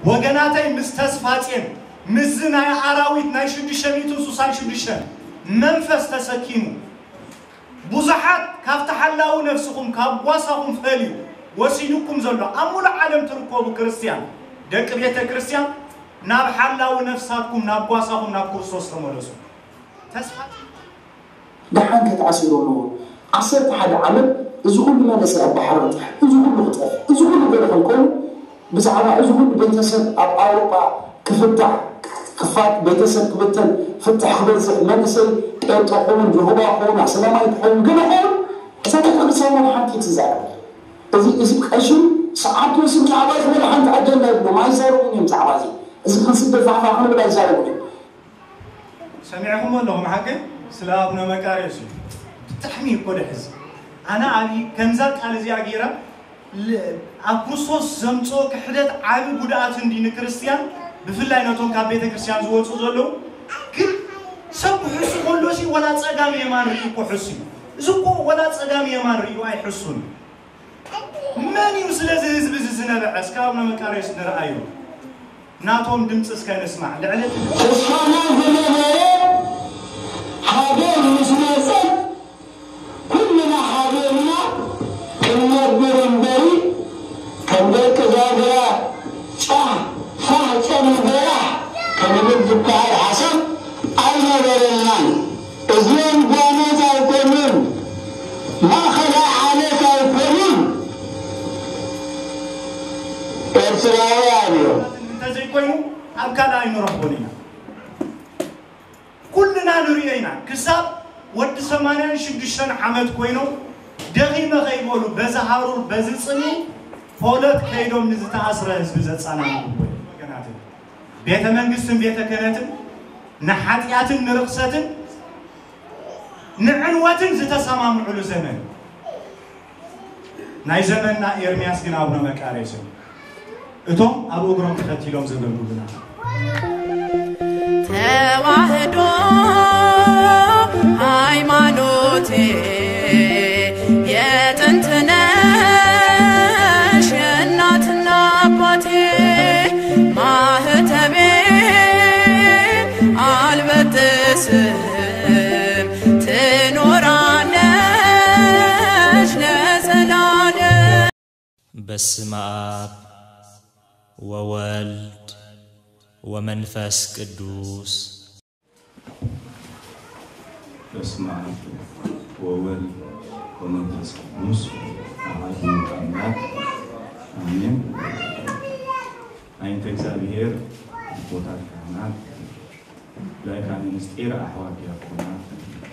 ወገናተይ፣ ምስ ተስፋጼን ምስዚ ናይ ኣራዊት ናይ ሽዱሽተ ሚእትን ሱሳን ሽዱሽተን መንፈስ ተሰኪሙ ብዙሓት ካብቲ ሓላዊ ነፍስኹም ካብ ጓሳኹም ፈልዩ ወሲዱኩም ዘሎ ኣብ ሙሉእ ዓለም ትርከቡ ክርስትያን ደቂ ቤተ ክርስትያን ናብ ሓላዊ ነፍሳትኩም ናብ ጓሳኹም ናብ ክርስቶስ ተመለሱ። ተስፋ ደሓን ከተኣሲሩ ኣለዎ። ዓሰርተ ሓደ ዓመት እዚ ኩሉ መንእሰይ ኣብ ባሕሪ ክጠፍ፣ እዚ ኩሉ ክጠፍ፣ እዚ ኩሉ ገለ ክንከውን ብዛዕባ እዚ ኩሉ ቤተሰብ ኣብ ኣውሮጳ ክፍታሕ ክፋት ቤተሰብ ክብተን ፍትሕ ክበዝሕ መንእሰይ ጴንጠ ክኸውን ጅሆባ ክኸውን ኣስላማይ ክኸውን ገለ ክኸውን እዛ ቤተክርስትያን ሓንቲ ትዛረብ እዚ እዚ ቀሽን ሰዓቱ ስም ዛዕባ ዝበለ ሓንቲ ኣጀንዳ ይብሎም ኣይዛረቡን እዮም ዛዕባ እዚ እዚ ክንስደድ ፋሕፋሕ ክንብል ኣይዛረቡን እዮም ሰሚዕኹሞ ኣለኹም ሓቂ ስለ ኣቡነ መቃርዮስ እዩ። ብጣዕሚ እኮ ደሕዝ ኣነ ኣብ ከምዛ ቃል እዚኣ ገይረ ል- ኣብ ክርስቶስ ዘምፅኦ ክሕደት ዓቢ ጉድኣት እንዲ ንክርስትያን ብፍላይ ነቶም ካብ ቤተ ክርስትያን ዝወፁ ዘለዉ ግን ሰብ ክሕሱ ከሎ ሲ ወላ ፀጋም የማን ርእዩ እኮ ሕሱ እዩ። እዚ እኮ ወላ ፀጋም የማን ርእዩ ኣይሕሱን እዩ። መን እዩ ስለዚ ህዝቢ እዚ ዝነበዐ እስከ ኣቡነ መቃርዮስ ንርኣዮ ናቶም ድምፂ እስከ ንስማዕ ልዕሊ እቲ ተስፋና ዝነበረ ሃገር ምስ መፀት ኩልና ሓደ ኢና ክንነብር እምበሪ ከም ደቂ ዛግራ ጫሕ ፋሕ ጨም በራሕ ክንብል ዝበሃል ሓሳብ ኣይነበረናን። እዚኦም ጓኖት ኣይኮኑን፣ ማእኸላይ ዓሌት ኣይኮኑን፣ ኤርትራውያን እዮም። እንተዘይኮይኑ ኣብ ካልእ ኣይንረኽቦን ኢና። ኩልና ንሪኦ ኢና። ክሳብ ወዲ ሰማንያን ሽዱሽተን ዓመት ኮይኖም ደኺመ ከይበሉ በዚ ሃሩር በዚ ፅምኢ ፖለት ከይዶም ንዝተኣስረ ህዝቢ ዘፀናንዑ እኮ እዮም ወገናተይ። ቤተ መንግስትን ቤተ ክህነትን ንሓጢኣትን ንርኽሰትን ንዕንወትን ዝተሰማምዑሉ ዘመን ናይ ዘመንና ኤርምያስ ግን ኣቡነ መቃርዮስ እዮም። እቶም ኣብ እግሮም ተኸቲሎም ዘገልግሉና ተዋህዶ ሃይማኖቴ የጥንት ነሽ የእናትና አባቴ ማህተቤ አልበጥስም ትኖራለሽ ለዘላለም። በስመ አብ ወወልድ ወመንፈስ ቅዱስ። በስመ አብ ወወልድ ወመንፈስ ቅዱስ አሐዱ አምላክ አሜን። አይንተ እግዚአብሔር አቦታት ካህናት ላይካነ ምስጢር ኣሕዋት ዲያቆናት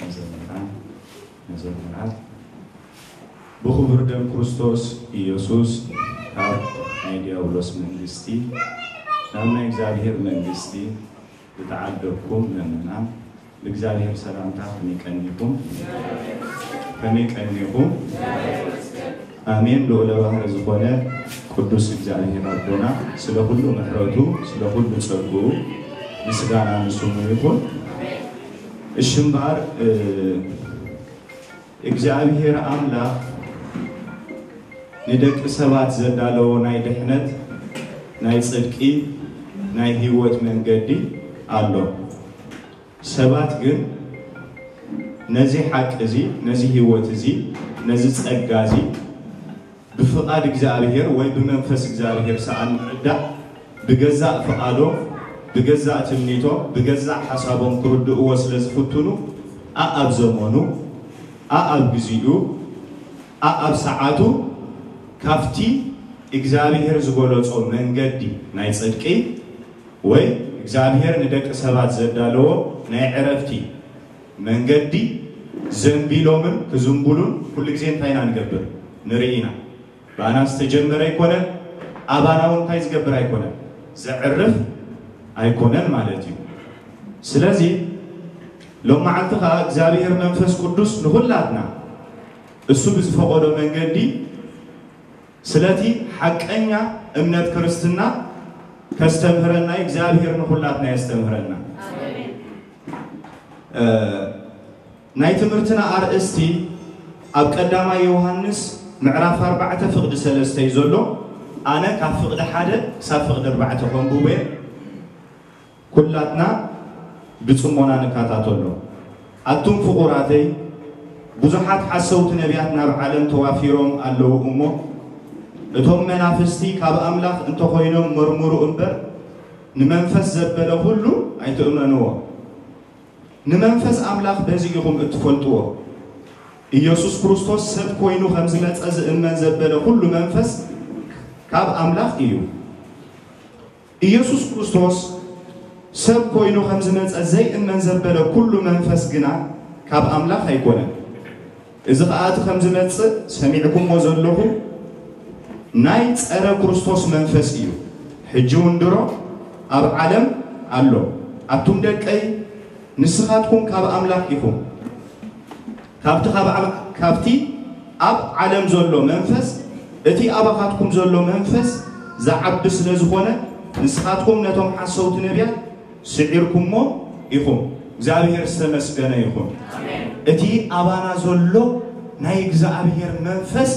መዘምራን መዘምራት ብኽቡር ደም ክርስቶስ ኢየሱስ ካብ ናይ ዲያብሎስ መንግስቲ ናብ ናይ እግዚኣብሔር መንግስቲ ዝተዓደግኩም ምእመናን ብእግዚኣብሔር ሰላምታ ከመይ ቀኒኹም? ከመይ ቀኒኹም? ኣሜን። ልዑለ ባህሪ ዝኾነ ቅዱስ እግዚኣብሔር ኣቦና ስለ ኩሉ ምሕረቱ ስለ ኩሉ ጸግኡ ምስጋና ንስሙ ይኹን። እሺ እምበኣር እግዚኣብሔር ኣምላኽ ንደቂ ሰባት ዘዳለዎ ናይ ድሕነት ናይ ጽድቂ ናይ ህይወት መንገዲ ኣሎ። ሰባት ግን ነዚ ሓቂ እዚ ነዚ ህይወት እዚ ነዚ ጸጋ እዚ ብፍቓድ እግዚኣብሔር ወይ ብመንፈስ እግዚኣብሔር ሰኣን ምዕዳእ ብገዛእ ፍቓዶም ብገዛእ ትምኒቶም ብገዛእ ሓሳቦም ክርድእዎ ስለ ዝፍትኑ ኣኣብ ዘመኑ ኣኣብ ግዚኡ ኣኣብ ሰዓቱ ካብቲ እግዚኣብሔር ዝገለጾ መንገዲ ናይ ጽድቂ ወይ እግዚኣብሔር ንደቂ ሰባት ዘዳለዎ ናይ ዕረፍቲ መንገዲ ዘንቢሎምን ክዝንቡሉን ኩሉ ግዜ እንታይ ኢና ንገብር ንርኢ ኢና። ብኣና ዝተጀመረ ኣይኮነን፣ ኣባና እውን እንታይ ዝገብር ኣይኮነን፣ ዘዕርፍ ኣይኮነን ማለት እዩ። ስለዚ ሎም መዓልቲ ከዓ እግዚኣብሔር መንፈስ ቅዱስ ንኹላትና እሱ ብዝፈቐዶ መንገዲ ስለቲ ሓቀኛ እምነት ክርስትና ከስተምህረና እግዚኣብሔር ንኹላትና የስተምህረና። ናይ ትምህርትና ኣርእስቲ ኣብ ቀዳማይ ዮሃንስ ምዕራፍ ኣርባዕተ ፍቕዲ ሰለስተ እዩ ዘሎ። ኣነ ካብ ፍቕዲ ሓደ ክሳብ ፍቕዲ ኣርባዕተ ከንብቦ እየ። ኩላትና ብጽሞና ንከታተሎ። ኣቱም ፍቑራተይ፣ ብዙሓት ሓሰውቲ ነቢያት ናብ ዓለም ተዋፊሮም ኣለዉ እሞ፣ እቶም መናፍስቲ ካብ ኣምላኽ እንተኾይኖም መርምሩ እምበር፣ ንመንፈስ ዘበለ ኩሉ ኣይትእመንዎ። ንመንፈስ ኣምላኽ በዚ ኢኹም እትፈልጥዎ። ኢየሱስ ክርስቶስ ሰብ ኮይኑ ከም ዝመጸ ዝእመን ዘበለ ኩሉ መንፈስ ካብ ኣምላኽ እዩ። ኢየሱስ ክርስቶስ ሰብ ኮይኑ ከም ዝመጸ ዘይእመን ዘበለ ኩሉ መንፈስ ግና ካብ ኣምላኽ ኣይኮነን። እዚ ኸኣ እቲ ከም ዝመጽእ ሰሚዕኩሞ ዘለኹም ናይ ጸረ ክርስቶስ መንፈስ እዩ። ሕጂ እውን ድሮ ኣብ ዓለም ኣሎ። ኣቱም ደቀይ፣ ንስኻትኩም ካብ ኣምላኽ ኢኹም። ካብቲ ካብ ዓም-፣ ካብቲ ኣብ ዓለም ዘሎ መንፈስ፣ እቲ ኣባኻትኩም ዘሎ መንፈስ ዝዓቢ ስለ ዝኾነ፣ ንስኻትኩም ነቶም ሓሰውቲ ነቢያት ስዒርኩሞ ኢኹም። እግዚኣብሔር ዝተመስገነ ይኹን። እቲ ኣባና ዘሎ ናይ እግዚኣብሔር መንፈስ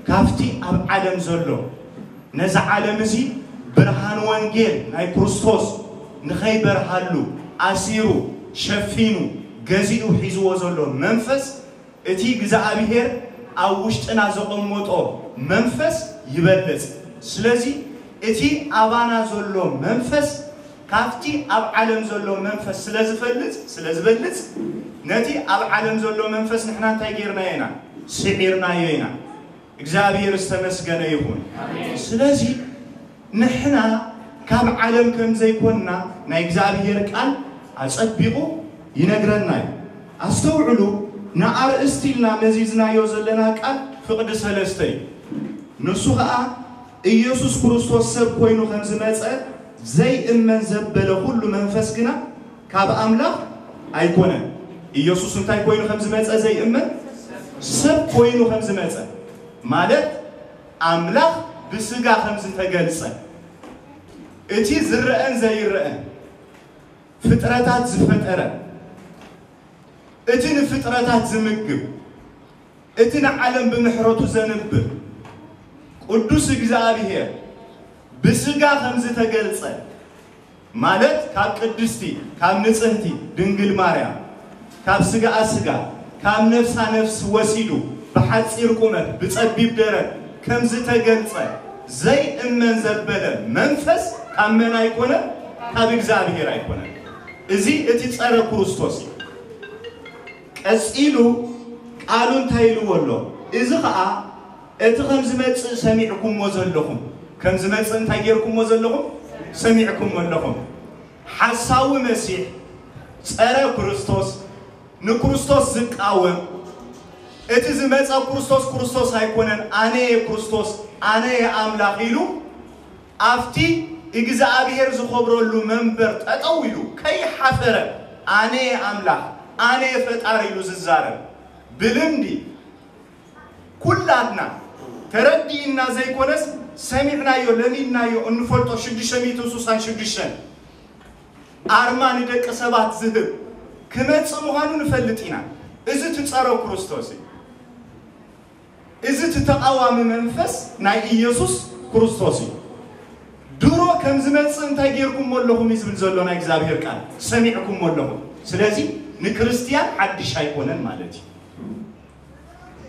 ካብቲ ኣብ ዓለም ዘሎ፣ ነዚ ዓለም እዚ ብርሃን ወንጌል ናይ ክርስቶስ ንኸይበርሃሉ ኣሲሩ፣ ሸፊኑ፣ ገዚኡ ሒዝዎ ዘሎ መንፈስ፣ እቲ እግዚኣብሔር ኣብ ውሽጥና ዘቐመጦ መንፈስ ይበልጽ። ስለዚ እቲ ኣባና ዘሎ መንፈስ ካብቲ ኣብ ዓለም ዘሎ መንፈስ ስለ ዝፈልጽ፣ ስለ ዝበልጽ፣ ነቲ ኣብ ዓለም ዘሎ መንፈስ ንሕና እንታይ ጌርናዮ ኢና? ስዒርናዮ ኢና። እግዚኣብሔር ዝተመስገነ ይኹን። ስለዚ ንሕና ካብ ዓለም ከም ዘይኮንና ናይ እግዚኣብሔር ቃል ኣጸቢቑ ይነግረና እዩ። ኣስተውዕሉ፣ ንኣርእስቲ ኢልና መዚዝናዮ ዘለና ቃል ፍቕዲ ሰለስተ እዩ። ንሱ ኸኣ ኢየሱስ ክርስቶስ ሰብ ኮይኑ ከም ዝመጸ ዘይእመን ዘበለ ኩሉ መንፈስ ግና ካብ ኣምላኽ ኣይኮነን። ኢየሱስ እንታይ ኮይኑ ከም ዝመጸ ዘይእመን? ሰብ ኮይኑ ከም ዝመጸ ማለት ኣምላኽ ብስጋ ከም ዝተገልጸ፣ እቲ ዝረአን ዘይረአን ፍጥረታት ዝፈጠረ፣ እቲ ንፍጥረታት ዝምግብ፣ እቲ ንዓለም ብምሕረቱ ዘንብር ቅዱስ እግዚኣብሔር ብስጋ ከም ዝተገልጸ፣ ማለት ካብ ቅድስቲ፣ ካብ ንጽህቲ ድንግል ማርያም፣ ካብ ስጋኣ ስጋ፣ ካብ ነፍሳ ነፍስ ወሲዱ ብሓጺር ቁመት ብጸቢብ ደረት ከም ዝተገልጸ ዘይእመን ዘበለ መንፈስ ካብ መን ኣይኮነን? ካብ እግዚኣብሔር ኣይኮነን። እዚ እቲ ጸረ ክርስቶስ እዩ። ቀጺሉ ቃሉ እንታይ ኢልዎ ኣሎ? እዚ ኸኣ እቲ ከም ዝመጽእ ሰሚዕኩሞ ዘለኹም። ከም ዝመጽእ እንታይ ጌርኩሞ ዘለኹም? ሰሚዕኩሞ ኣለኹም። ሓሳዊ መሲሕ፣ ጸረ ክርስቶስ፣ ንክርስቶስ ዝቃወም፣ እቲ ዝመጸ ክርስቶስ ክርስቶስ ኣይኮነን፣ ኣነ እየ ክርስቶስ፣ ኣነ እየ ኣምላኽ ኢሉ ኣብቲ እግዚኣብሔር ዝኸብረሉ መንበር ጠጠው ኢሉ ከይሓፈረ ኣነ እየ ኣምላኽ፣ ኣነ እየ ፈጣሪ ኢሉ ዝዛረብ፣ ብልምዲ ኩላትና ተረዲእና ዘይኮነስ ሰሚዕናዮ፣ ለሚድናዮ፣ እንፈልጦ ሽዱሽተ ሚእቲ ስሳን ሽዱሽተን ኣርማ ንደቂ ሰባት ዝህብ ክመጽእ ምዃኑ ንፈልጥ ኢና። እዚ እቲ ጸረ ክርስቶስ እዩ። እዚ እቲ ተቓዋሚ መንፈስ ናይ ኢየሱስ ክርስቶስ እዩ። ድሮ ከም ዝመጽእ እንታይ ጌርኩሞ ኣለኹም እዩ ዝብል ዘሎ ናይ እግዚኣብሔር ቃል፣ ሰሚዕኩሞ ኣለኹም። ስለዚ ንክርስትያን ሓድሽ ኣይኮነን ማለት እዩ።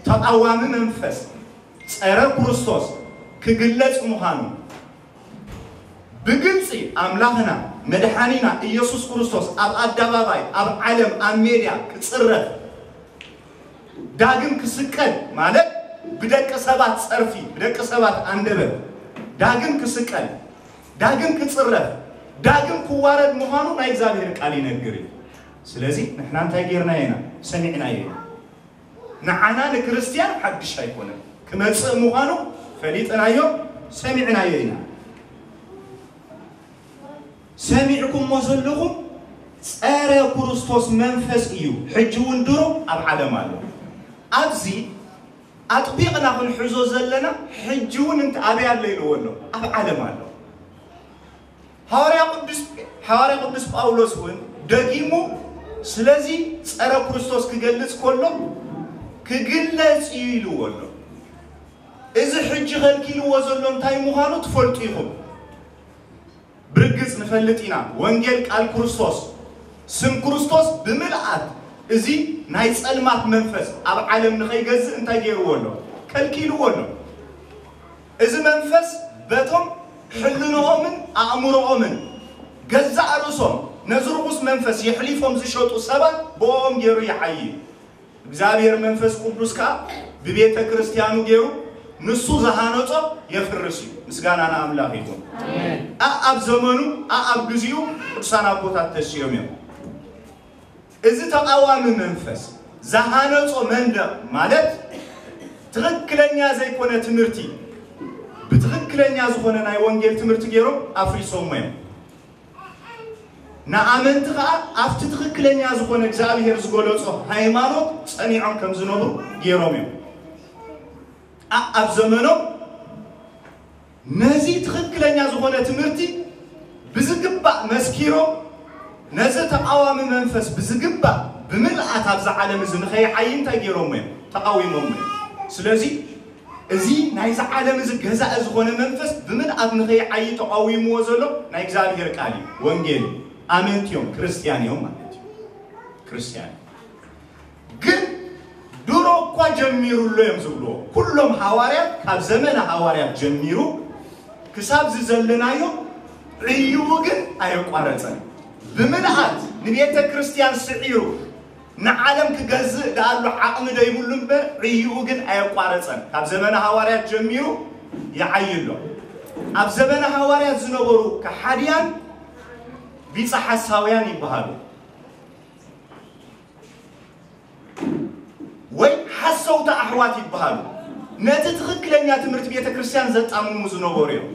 ተቓዋሚ መንፈስ ጸረ ክርስቶስ ክግለጽ ምዃኑ ብግልጺ ኣምላኽና መድሓኒና ኢየሱስ ክርስቶስ ኣብ ኣደባባይ፣ ኣብ ዓለም፣ ኣብ ሜድያ ክጽረፍ፣ ዳግም ክስቀል ማለት ብደቂ ሰባት ጸርፊ፣ ብደቂ ሰባት ኣንደበት ዳግም ክስቀል፣ ዳግም ክጽረፍ፣ ዳግም ክዋረድ ምዃኑ ናይ እግዚኣብሔር ቃል ይነግር እዩ። ስለዚ ንሕና እንታይ ጌርናዮ ኢና? ሰሚዕናዮ ኢና። ንዓና ንክርስትያን ሓድሽ ኣይኮነን። ክመጽእ ምዃኑ ፈሊጥናዮ፣ ሰሚዕናዮ ኢና። ሰሚዕኩሞ ዘለኹም ጸረ ክርስቶስ መንፈስ እዩ። ሕጂ እውን ድሮ ኣብ ዓለም ኣሎ። ኣብዚ ኣጥቢቕና ክንሕዞ ዘለና ሕጂ እውን እንተ ኣበይ ኣሎ ኢልዎ ኣሎ? ኣብ ዓለም ኣሎ። ሃዋርያ ቅዱስ፣ ሃዋርያ ቅዱስ ጳውሎስ እውን ደጊሙ ስለዚ ጸረ ክርስቶስ ክገልጽ ከሎ ክግለጽ እዩ ኢልዎ ኣሎ። እዚ ሕጂ ከልኪልዎ ዘሎ እንታይ ምዃኑ ትፈልጡ ኢኹም። ብርግጽ ንፈልጥ ኢና። ወንጌል ቃል ክርስቶስ፣ ስም ክርስቶስ ብምልኣት እዚ ናይ ጸልማት መንፈስ ኣብ ዓለም ንኸይገዝእ እንታይ ገይርዎ ኣሎ? ከልኪልዎ ኣሎ። እዚ መንፈስ በቶም ሕልንኦምን ኣእምሮኦምን ገዛእ ርእሶም ነዚ ርኹስ መንፈስ የሕሊፎም ዝሸጡ ሰባት ብኦም ገይሩ ይሓይይ። እግዚኣብሔር መንፈስ ቅዱስ ከኣ ብቤተ ክርስቲያኑ ገይሩ ንሱ ዝሃነጾ የፍርስ እዩ። ምስጋና ንኣምላኽ ይኹን። ኣኣብ ዘመኑ ኣኣብ ግዚኡ ቅዱሳን ኣቦታት ተሲኦም እዮም። እዚ ተቓዋሚ መንፈስ ዝሃነጾ መንደቕ ማለት ትኽክለኛ ዘይኮነ ትምህርቲ ብትኽክለኛ ዝኾነ ናይ ወንጌል ትምህርቲ ገይሮም ኣፍሪሶሞ እዮም። ንኣመንቲ ኸኣ ኣብቲ ትኽክለኛ ዝኾነ እግዚኣብሔር ዝገለጾ ሃይማኖት ጸኒዖም ከም ዝነብሩ ገይሮም እዮም። ኣብ ዘመኖም ነዚ ትኽክለኛ ዝኾነ ትምህርቲ ብዝግባእ መስኪሮም ነዚ ተቓዋሚ መንፈስ ብዝግባእ ብምልኣት ኣብዚ ዓለም እዚ ንኸይዓይ እንታይ ገይሮሞ እዮም? ተቓዊሞሞ እዮም። ስለዚ እዚ ናይዚ ዓለም እዚ ገዛኢ ዝኾነ መንፈስ ብምልኣት ንኸይዓይ ተቓዊምዎ ዘሎ ናይ እግዚኣብሔር ቃል እዩ፣ ወንጌል እዩ። ኣመንቲ እዮም፣ ክርስትያን እዮም ማለት እዩ። ክርስትያን ግን ድሮ እኳ ጀሚሩ ኣሎ እዮም ዝብልዎ። ኩሎም ሃዋርያት፣ ካብ ዘመነ ሃዋርያት ጀሚሩ ክሳብ ዝዘለናዮ ዕይኡ ግን ኣየቋረጸን። ብምልኣት ንቤተ ክርስቲያን ስዒሩ ንዓለም ክገዝእ ደኣሉ ዓቕሚ ደይብሉ እምበር ዕይኡ ግን ኣየቋረጸን። ካብ ዘመነ ሃዋርያት ጀሚሩ ይዓይ ኣሎ። ኣብ ዘመነ ሃዋርያት ዝነበሩ ከሓድያን ቢጸ ሓሳውያን ይበሃሉ። ወይ ሓሰውቲ ኣሕዋት ይበሃሉ። ነቲ ትኽክለኛ ትምህርቲ ቤተ ክርስቲያን ዘጣምሙ ዝነበሩ እዮም።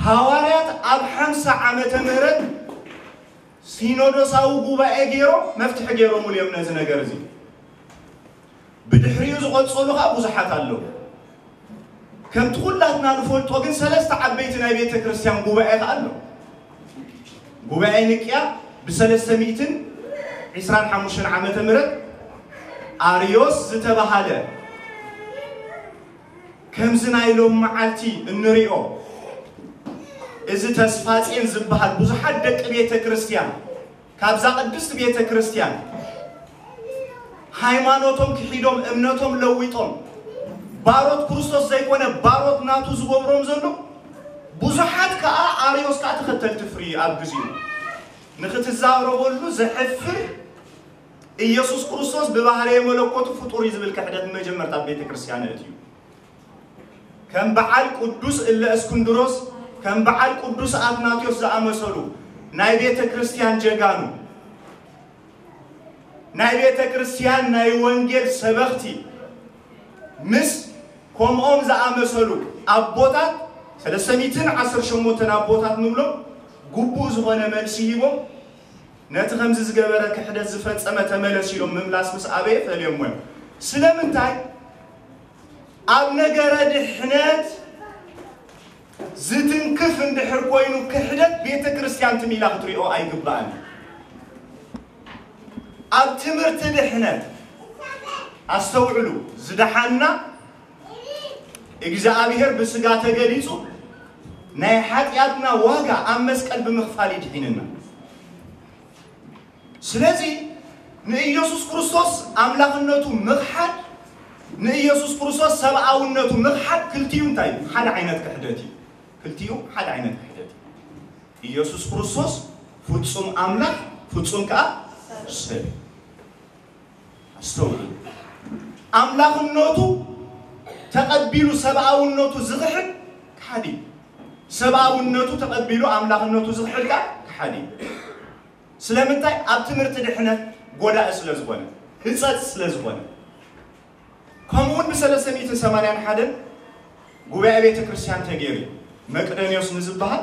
ሃዋርያት ኣብ ሓምሳ ዓመተ ምህረት ሲኖዶሳዊ ጉባኤ ገይሮም መፍትሒ ገይሮምሉ እዮም ነዚ ነገር እዚ። ብድሕሪኡ ዝቐጸሉ ኸኣ ብዙሓት ኣለዉ። ከምቲ ኩላትና ንፈልጦ ግን ሰለስተ ዓበይቲ ናይ ቤተ ክርስቲያን ጉባኤ ኸኣ ኣሎ። ጉባኤ ንቅያ ብሰለስተ ሚእትን ዕስራን ሓሙሽተን ዓመተ ምህረት ኣርዮስ ዝተባሃለ ከምዚ ናይ ሎም መዓልቲ እንሪኦ እዚ ተስፋጼን ዝበሃል ብዙሓት ደቂ ቤተ ክርስቲያን ካብዛ ቅድስቲ ቤተ ክርስቲያን ሃይማኖቶም ክሒዶም እምነቶም ለዊጦም ባሮት ክርስቶስ ዘይኮነ ባሮት ናቱ ዝገብሮም ዘሎ ብዙሓት ከኣ ኣርዮስ ከኣ ተኸተልቲ ፍሪ ኣብ ግዚኡ ንክትዛረበሉ ዘሕፍር ኢየሱስ ክርስቶስ ብባህርየ መለኮቱ ፍጡር እዩ ዝብል ክሕደት መጀመርታ ኣብ ቤተ ክርስቲያን እትዩ። ከም በዓል ቅዱስ እለ እስክንድሮስ ከም በዓል ቅዱስ ኣትናቴዎስ ዝኣመሰሉ ናይ ቤተ ክርስቲያን ጀጋኑ ናይ ቤተ ክርስቲያን ናይ ወንጌል ሰበኽቲ ምስ ከምኦም ዝኣመሰሉ ኣቦታት ሰለስተ ሚእትን ዓሰርተ ሸሞንተን ኣቦታት ንብሎም ግቡእ ዝኾነ መልሲ ሂቦም ነቲ ከምዚ ዝገበረ ክሕደት ዝፈጸመ ተመለስ ኢሎም ምምላስ ምስ ኣበየ ፈልዮሞ እዮም። ስለምንታይ ኣብ ነገረ ድሕነት ዝትንክፍ እንድሕር ኮይኑ ክሕደት ቤተ ክርስቲያን ትም ኢላ ክትሪኦ ኣይግባእን። ኣብ ትምህርቲ ድሕነት ኣስተውዕሉ፣ ዝደሓና እግዚኣብሔር ብስጋ ተገሊጹ ናይ ሓጢኣትና ዋጋ ኣብ መስቀል ብምኽፋል ይድሒንና። ስለዚ ንኢየሱስ ክርስቶስ ኣምላኽነቱ ምኽሓድ ንኢየሱስ ክርስቶስ ሰብኣውነቱ ምኽሓድ ክልቲኡ እንታይ እዩ? ሓደ ዓይነት ክሕደት እዩ። ክልቲኡ ሓደ ዓይነት ክሕደት እዩ። ኢየሱስ ክርስቶስ ፍጹም ኣምላኽ ፍጹም ከኣ ሰብ። ኣስተውዕሉ። ኣምላኽነቱ ተቐቢሉ ሰብኣውነቱ ዝኽሕድ ከሓዲ እዩ። ሰብኣውነቱ ተቐቢሉ ኣምላኽነቱ ዝኽሕድ ከኣ ከሓዲ እዩ። ስለምንታይ? ኣብ ትምህርቲ ድሕነት ጎዳኢ ስለ ዝኾነ፣ ህጸጽ ስለ ዝኾነ። ከምኡ እውን ብሰለስተ ሚእትን ሰማንያን ሓደን ጉባኤ ቤተ ክርስቲያን ተገይሩ እዩ። መቅደንዮስ ንዝበሃል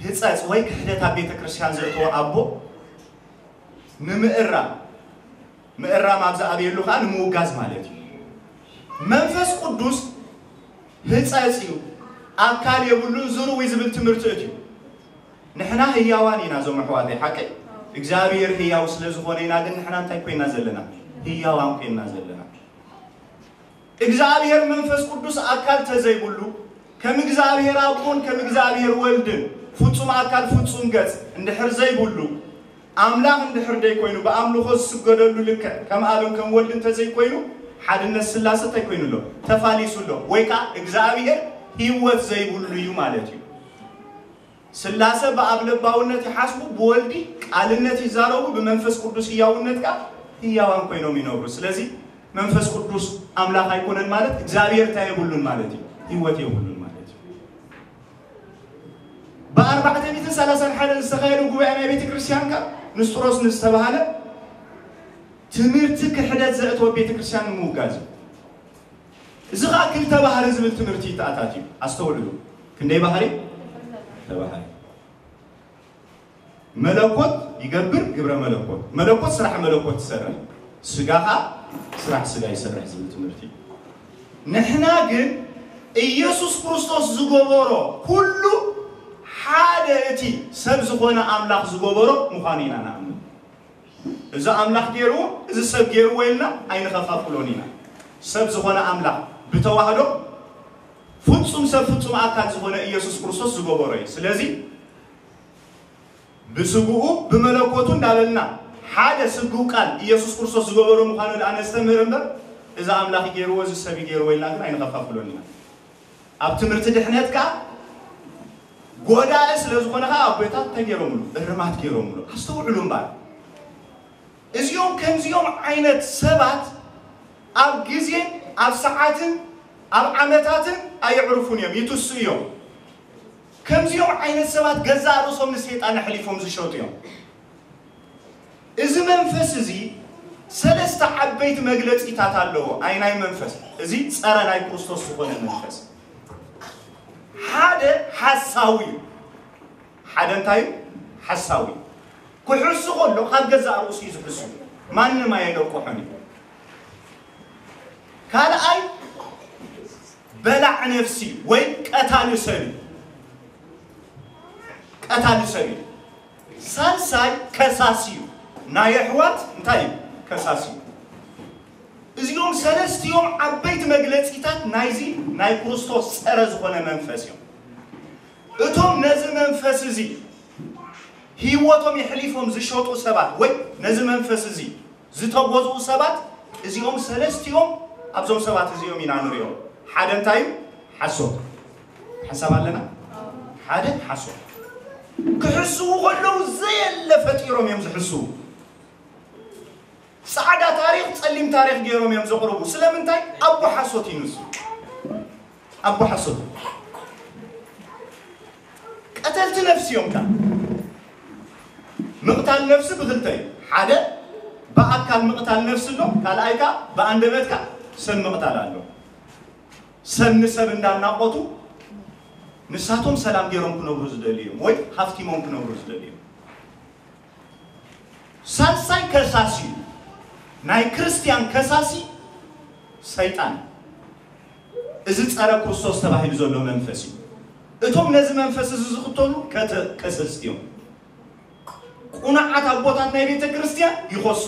ህጸጽ ወይ ክሕደት ኣብ ቤተ ክርስቲያን ዘእተወ ኣቦ ንምእራም ምእራም ኣብ ዝኣበየሉ ከዓ ንምውጋዝ ማለት እዩ። መንፈስ ቅዱስ ህፀፅ እዩ፣ ኣካል የብሉን፣ ዝርው እዩ ዝብል ትምህርቲ እዩ። ንሕና ህያዋን ኢና እዞም ኣሕዋተይ፣ ሓቀይ እግዚኣብሔር ህያው ስለ ዝኾነ ኢና። ግን ንሕና እንታይ ኮይና ዘለና? ህያዋን ኮይና ዘለና። እግዚኣብሔር መንፈስ ቅዱስ ኣካል ተዘይብሉ፣ ከም እግዚኣብሔር ኣቦን ከም እግዚኣብሔር ወልድን ፍጹም ኣካል ፍጹም ገጽ እንድሕር ዘይብሉ፣ ኣምላኽ እንድሕር ደይኮይኑ፣ ብኣምልኾ ዝስገደሉ ልክዕ ከም ኣብን ከም ወልድን ተዘይኮይኑ፣ ሓድነት ስላሰ እንታይ ኮይኑ ኣሎ? ተፋሊሱ ኣሎ። ወይ ከኣ እግዚኣብሔር ህይወት ዘይብሉ እዩ ማለት እዩ። ስላሰ ብኣብ ለባውነት ይሓስቡ፣ ብወልዲ ቃልነት ይዛረቡ፣ ብመንፈስ ቅዱስ ህያውነት ከኣ ህያዋን ኮይኖም ይነብሩ። ስለዚ መንፈስ ቅዱስ ኣምላኽ ኣይኮነን ማለት እግዚኣብሔር እንታይ የብሉን ማለት እዩ? ህይወት የብሉን ማለት እዩ። ብኣርባዕተ ሚእትን ሰላሳን ሓደን ዝተኻየደ ጉባኤ ናይ ቤተ ክርስቲያን ከኣ ንስጥሮስ ንዝተባህለ ትምህርቲ ክሕደት ዘእተወ ቤተ ክርስቲያን ንምውጋዝ እዩ። እዚ ኸኣ ክልተ ባህሪ ዝብል ትምህርቲ ይተኣታትዩ። ኣስተውዕሉ። ክንደይ ባህሪ? ክልተ ባህሪ። መለኮት ይገብር ግብረ መለኮት። መለኮት ስራሕ መለኮት ይሰርሕ፣ ስጋ ኸኣ ስራሕ ስጋ ይሰርሕ ዝብል ትምህርቲ። ንሕና ግን ኢየሱስ ክርስቶስ ዝገበሮ ኩሉ ሓደ እቲ ሰብ ዝኾነ ኣምላኽ ዝገበሮ ምዃኑ ኢና ንኣምን። እዚ ኣምላኽ ገይርዎ፣ እዚ ሰብ ገይርዎ ኢልና ኣይንኸፋፍሎን ኢና። ሰብ ዝኾነ ኣምላኽ ብተዋህዶ ፍጹም ሰብ ፍጹም ኣካል ዝኾነ ኢየሱስ ክርስቶስ ዝገበሮ እዩ። ስለዚ ብስግኡ ብመለኮቱ እንዳበልና ሓደ ስግው ቃል ኢየሱስ ክርስቶስ ዝገበሮ ምዃኑ ደኣ ነስተምህር እምበር፣ እዚ ኣምላኽ ገይርዎ፣ እዚ ሰብ ገይርዎ ኢልና ግን ኣይንኸፋፍሎን ኢና። ኣብ ትምህርቲ ድሕነት ከኣ ጎዳኢ ስለ ዝኾነ ከኣ ኣቦታት እንታይ ገይሮምሉ? እርማት ገይሮምሉ። ኣስተውዕሉ እምበር። እዚኦም ከምዚኦም ዓይነት ሰባት ኣብ ግዜን ኣብ ሰዓትን ኣብ ዓመታትን ኣየዕርፉን እዮም፣ ይትስኡ እዮም። ከምዚኦም ዓይነት ሰባት ገዛእ ርእሶም ንሰይጣን ኣሕሊፎም ዝሸጡ እዮም። እዚ መንፈስ እዚ ሰለስተ ዓበይቲ መግለጺታት ኣለዎ። ኣይ ናይ መንፈስ እዚ ጸረ ናይ ክርስቶስ ዝኾነ መንፈስ ሓደ ሓሳዊ እዩ። ሓደ እንታይ እዩ? ሓሳዊ። ክሕሱ ከሎ ካብ ገዛእ ርእሱ እዩ ዝሕሱ። ማንም ኣየለቅሖን እዩ። ካልኣይ በላዕ ነፍሲ ወይ ቀታሊ ሰብ እዩ። ቀታሊ ሰብ እዩ። ሳልሳይ ከሳሲ እዩ። ናይ ኣሕዋት እንታይ እዩ? ከሳሲ እዩ። እዚኦም ሰለስቲኦም ዓበይቲ መግለጺታት ናይዚ ናይ ክርስቶስ ጸረ ዝኾነ መንፈስ እዮም። እቶም ነዚ መንፈስ እዚ ህይወቶም የሕሊፎም ዝሸጡ ሰባት ወይ ነዚ መንፈስ እዚ ዝተጎዝኡ ሰባት እዚኦም ሰለስቲኦም ኣብዞም ሰባት እዚኦም ኢና ንሪኦም። ሓደ እንታይ እዩ? ሓሶት። ሓሳብ ኣለና? ሓደ ሓሶት። ክሕስዉ ከለዉ ዘየለ ፈጢሮም እዮም ዝሕስዉ። ጻዕዳ ታሪኽ ጸሊም ታሪኽ ገይሮም እዮም ዘቕርቡ። ስለምንታይ? ኣቦ ሓሶት እዩ ንሱ። ኣቦ ሓሶት። ቀተልቲ ነፍሲ እዮም ከኣ። ምቕታል ነፍሲ ብኽልተ እዩ። ሓደ ብኣካል ምቕታል ነፍሲ ኣሎ፣ ካልኣይ ከኣ ብኣንደበት ከኣ ሰብ ምቕታል ኣሎ። ሰብ ንሰብ እንዳናቖቱ ንሳቶም ሰላም ገይሮም ክነብሩ ዝደልዩ እዮም ወይ ሃፍቲሞም ክነብሩ ዝደልዩ እዮም። ሳልሳይ ከሳሲ እዩ። ናይ ክርስቲያን ከሳሲ ሰይጣን። እዚ ጸረ ክርስቶስ ተባሂሉ ዘሎ መንፈስ እዩ። እቶም ነዚ መንፈስ እዚ ዝኽተሉ ከተ-፣ ከሰስቲ እዮም። ቁኑዓት ኣቦታት ናይ ቤተ ክርስቲያን ይኸሱ።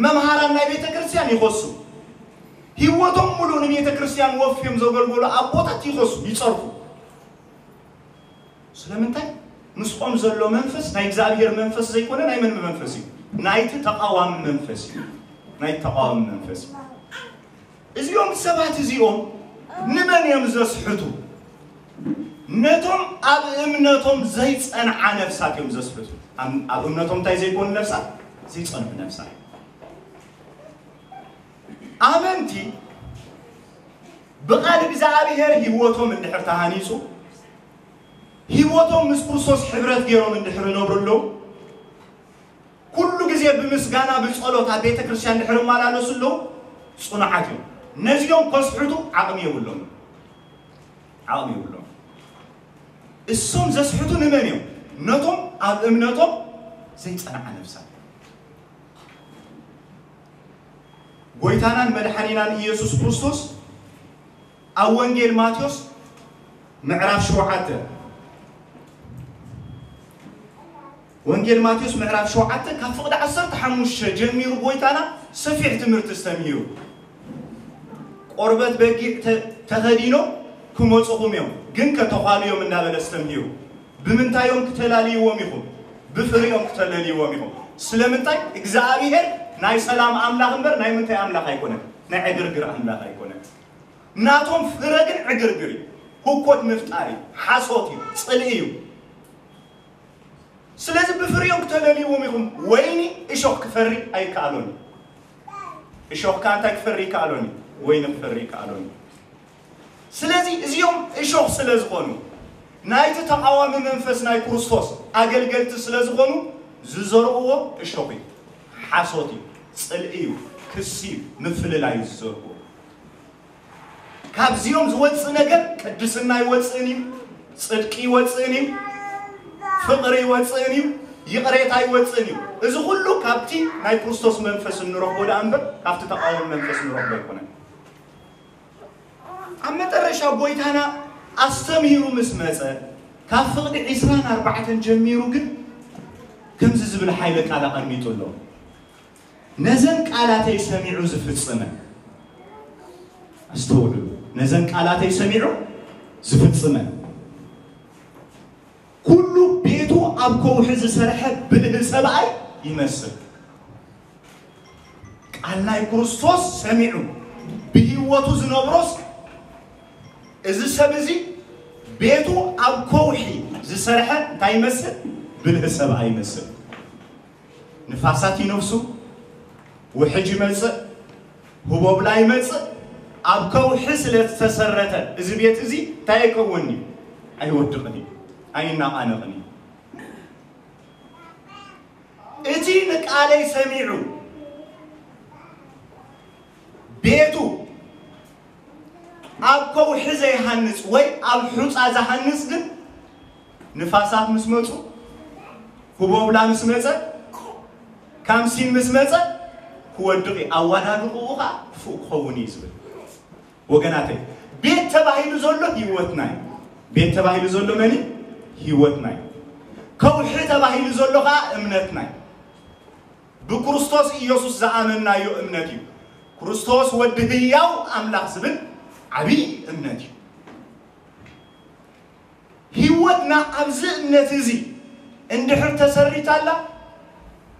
መምሃራን ናይ ቤተ ክርስቲያን ይኸሱ። ህይወቶም ሙሉእ ንቤተ ክርስቲያን ወፍዮም ዘገልገሉ ኣቦታት ይኸሱ፣ ይጸርፉ። ስለምንታይ? ምስኦም ዘሎ መንፈስ ናይ እግዚኣብሔር መንፈስ ዘይኮነ ናይ መን መንፈስ እዩ? ናይቲ ተቃዋሚ መንፈስ እዩ። ናይ ተቃዋሚ መንፈስ እዩ። እዚኦም ሰባት እዚኦም ንመን እዮም ዘስሕቱ? ነቶም ኣብ እምነቶም ዘይጸንዓ ነፍሳት እዮም ዘስሕቱ። ኣብ፣ ኣብ እምነቶም እንታይ ዘይኮኑ ነፍሳት? ዘይጸንሑ ነፍሳት። ኣመንቲ ብቓል እግዚኣብሔር ህይወቶም እንድሕር ተሃኒጹ፣ ህይወቶም ምስ ክርስቶስ ሕብረት ገይሮም እንድሕር ይነብሩ ኣለዉ፣ ኩሉ ግዜ ብምስጋና ብጸሎት ኣብ ቤተ ክርስቲያን እንድሕር ይመላለሱ ኣለዉ፣ ጽኑዓት እዮም። ነዚኦም ከስሕቱ ዓቕሚ የብሎም። ዓቕሚ የብሎም። እሶም ዘስሕቱ ንመን እዮም? ነቶም ኣብ እምነቶም ዘይጸንዓ ነፍሳት። ጎይታናን መድሓኒናን ኢየሱስ ክርስቶስ ኣብ ወንጌል ማቴዎስ ምዕራፍ ሸውዓተ፣ ወንጌል ማቴዎስ ምዕራፍ ሸውዓተ ካብ ፍቕዲ ዓሰርተ ሓሙሽተ ጀሚሩ ጎይታና ሰፊሕ ትምህርቲ ኣስተምሂሩ። ቆርበት በጊዕ ተ- ተኸዲኖም ክመፁኹም እዮም፣ ግን ከተዃሉ እዮም እንዳበለ ኣስተምሂሩ። ብምንታይ እዮም ክተላልይዎም ኢኹም? ብፍሪኦም ክተለልይዎም ኢኹም። ስለምንታይ? እግዚኣብሔር ናይ ሰላም ኣምላኽ እምበር ናይ ምንታይ ኣምላኽ ኣይኮነን? ናይ ዕግርግር ኣምላኽ ኣይኮነን። ናቶም ፍረ ግን ዕግርግር እዩ። ህኮት ምፍጣር እዩ። ሓሶት እዩ። ፅልኢ እዩ። ስለዚ ብፍሪኦም ክተለልይዎም ኢኹም። ወይኒ እሾኽ ክፈሪ ኣይከኣሎን እዩ። እሾኽ ከኣ እንታይ ክፈሪ ይከኣሎን እዩ? ወይኒ ክፈሪ ይከኣሎን እዩ። ስለዚ እዚኦም እሾኽ ስለ ዝኾኑ፣ ናይቲ ተቓዋሚ መንፈስ ናይ ክርስቶስ ኣገልገልቲ ስለ ዝኾኑ፣ ዝዘርእዎ እሾኽ እዩ። ሓሶት እዩ። ፅልኢ እዩ። ክሲ እዩ። ምፍልላይ እዩ ዝዘርእዎ። ካብዚኦም ዝወፅእ ነገር ቅድስና ይወፅእን እዩ። ፅድቂ ይወፅእን እዩ። ፍቕሪ ይወፅእን እዩ። ይቕሬታ ይወፅእን እዩ። እዚ ኩሉ ካብቲ ናይ ክርስቶስ መንፈስ እንረኽቦ ደኣ እምበር ካብቲ ተቓዋሚ መንፈስ እንረኽቦ ኣይኮነን። ኣብ መጠረሻ ጎይታና ኣስተምሂሩ ምስ መጸ፣ ካብ ፍቕዲ ዒስራን ኣርባዕተን ጀሚሩ ግን ከምዚ ዝብል ሓይለ ቃል ኣቐሚጡ ኣሎ። ነዘን ቃላተይ ሰሚዑ ዝፍጽመን፣ ኣስተውዕሉ፣ ነዘን ቃላተይ ሰሚዑ ዝፍጽመን ኩሉ ቤቱ ኣብ ከውሒ ዝሰርሐ ብልህ ሰብኣይ ይመስል። ቃል ናይ ክርስቶስ ሰሚዑ ብህይወቱ ዝነብሮስ፣ እዚ ሰብ እዚ ቤቱ ኣብ ከውሒ ዝሰርሐ እንታይ ይመስል? ብልህ ሰብኣይ ይመስል። ንፋሳት ይነፍሱ፣ ውሕጅ ይመጽእ፣ ህቦብላ ይመጽእ። ኣብ ከውሒ ስለ ዝተሰረተ እዚ ቤት እዚ እንታይ ኣይከውን'ዩ? ኣይወድቕን እዩ፣ ኣይናቓነቕን እዩ። እቲ ንቃለይ ሰሚዑ ቤቱ ኣብ ከውሒ ዘይሃንጽ ወይ ኣብ ሑጻ ዝሃንጽ ግን ንፋሳት ምስ መጹ፣ ህቦብላ ምስ መጸ፣ ካምሲን ምስ መጸ ክወድቕ እዩ። ኣወዳድቕኡ ኸኣ ክፉእ ክኸውን እዩ ዝብል። ወገናተይ፣ ቤት ተባሂሉ ዘሎ ህይወትና እዩ። ቤት ተባሂሉ ዘሎ መን እዩ? ህይወትና እዩ። ከውሒ ተባሂሉ ዘሎ ኸኣ እምነትና እዩ። ብክርስቶስ ኢየሱስ ዝኣመንናዮ እምነት እዩ። ክርስቶስ ወዲ ህያው ኣምላኽ ዝብል ዓብዪ እምነት እዩ። ህይወትና ኣብዚ እምነት እዚ እንድሕር ተሰሪታላ፣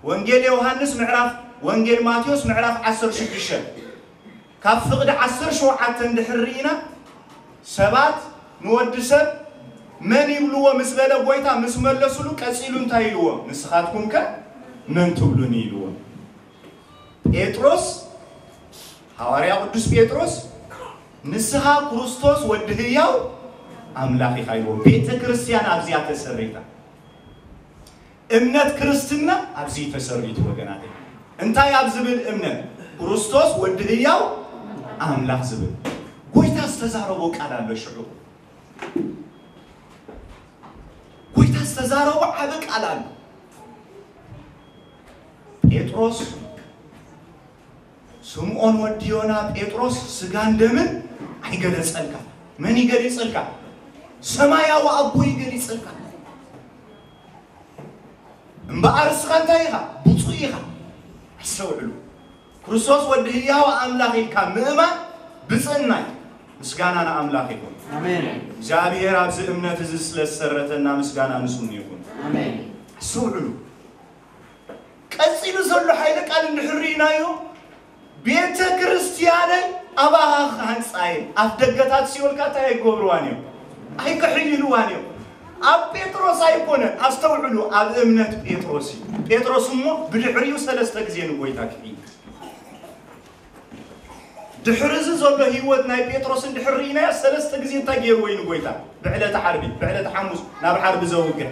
ወንጌል ዮሃንስ ምዕራፍ፣ ወንጌል ማቴዎስ ምዕራፍ ዓሰርተ ሽዱሽተ ካብ ፍቕዲ ዓሰርተ ሸውዓተ እንድሕር ርኢና፣ ሰባት ንወዲ ሰብ መን ይብልዎ ምስ በለ፣ ጎይታ ምስ መለሱሉ፣ ቀጺሉ እንታይ ኢልዎ? ንስኻትኩም ከ መን ትብሉኒ? ኢልዎ። ጴጥሮስ፣ ሃዋርያ ቅዱስ ጴጥሮስ፣ ንስኻ ክርስቶስ ወዲ ህያው ኣምላኽ ኢኻ ኢልዎ። ቤተ ክርስቲያን ኣብዚኣ ተሰሪታ። እምነት ክርስትና ኣብዚ ተሰሪቱ ወገናተይ። እንታይ ኣብ ዝብል እምነት? ክርስቶስ ወዲ ህያው ኣምላኽ ዝብል። ጎይታ ዝተዛረቦ ቃል ኣሎ ሽዑ። ጎይታ ዝተዛረቦ ዓቢ ቃል ኣሎ። ጴጥሮስ፣ ስምዖን ወዲ ዮና፣ ጴጥሮስ፣ ስጋን ደምን ኣይገለጸልካ። መን ይገሊጸልካ? ሰማያዊ ኣቦ ይገሊጸልካ። እምበኣር እስኻ እንታይ ኢኻ? ብፁዕ ኢኻ። ኣስተውዕሉ። ክርስቶስ ወዲ ህያው ኣምላኽ ኢልካ ምእማን ብፅዕና እዩ። ምስጋና ንኣምላኽ ይኹን። ኣሜን። እግዚኣብሔር ኣብዚ እምነት እዚ ስለ ዝሰረተና ምስጋና ንስሙ ይኹን። ኣሜን። ኣስተውዕሉ። ቀጺሉ ዘሎ ሓይለ ቃል እንድሕር ርኢናዮ፣ ቤተ ክርስቲያነይ ኣባኻ ክሃንጻ እየ፣ ኣፍ ደገታት ሲኦል ከኣ እንታይ ኣይገብርዋን እዮም? ኣይክሕይልዋን እዮም። ኣብ ጴጥሮስ ኣይኮነን፣ ኣስተውዕሉ፣ ኣብ እምነት ጴጥሮስ እዩ። ጴጥሮስ እሞ ብድሕሪኡ ሰለስተ ግዜ ንጎይታ ክሕይል። ድሕሪ እዚ ዘሎ ህይወት ናይ ጴጥሮስ እንድሕር ርኢናዮ፣ ሰለስተ ግዜ እንታይ ገይርዎ እዩ ንጎይታ? ብዕለተ ዓርቢ፣ ብዕለተ ሓሙስ ናብ ዓርቢ ዘውግሕ።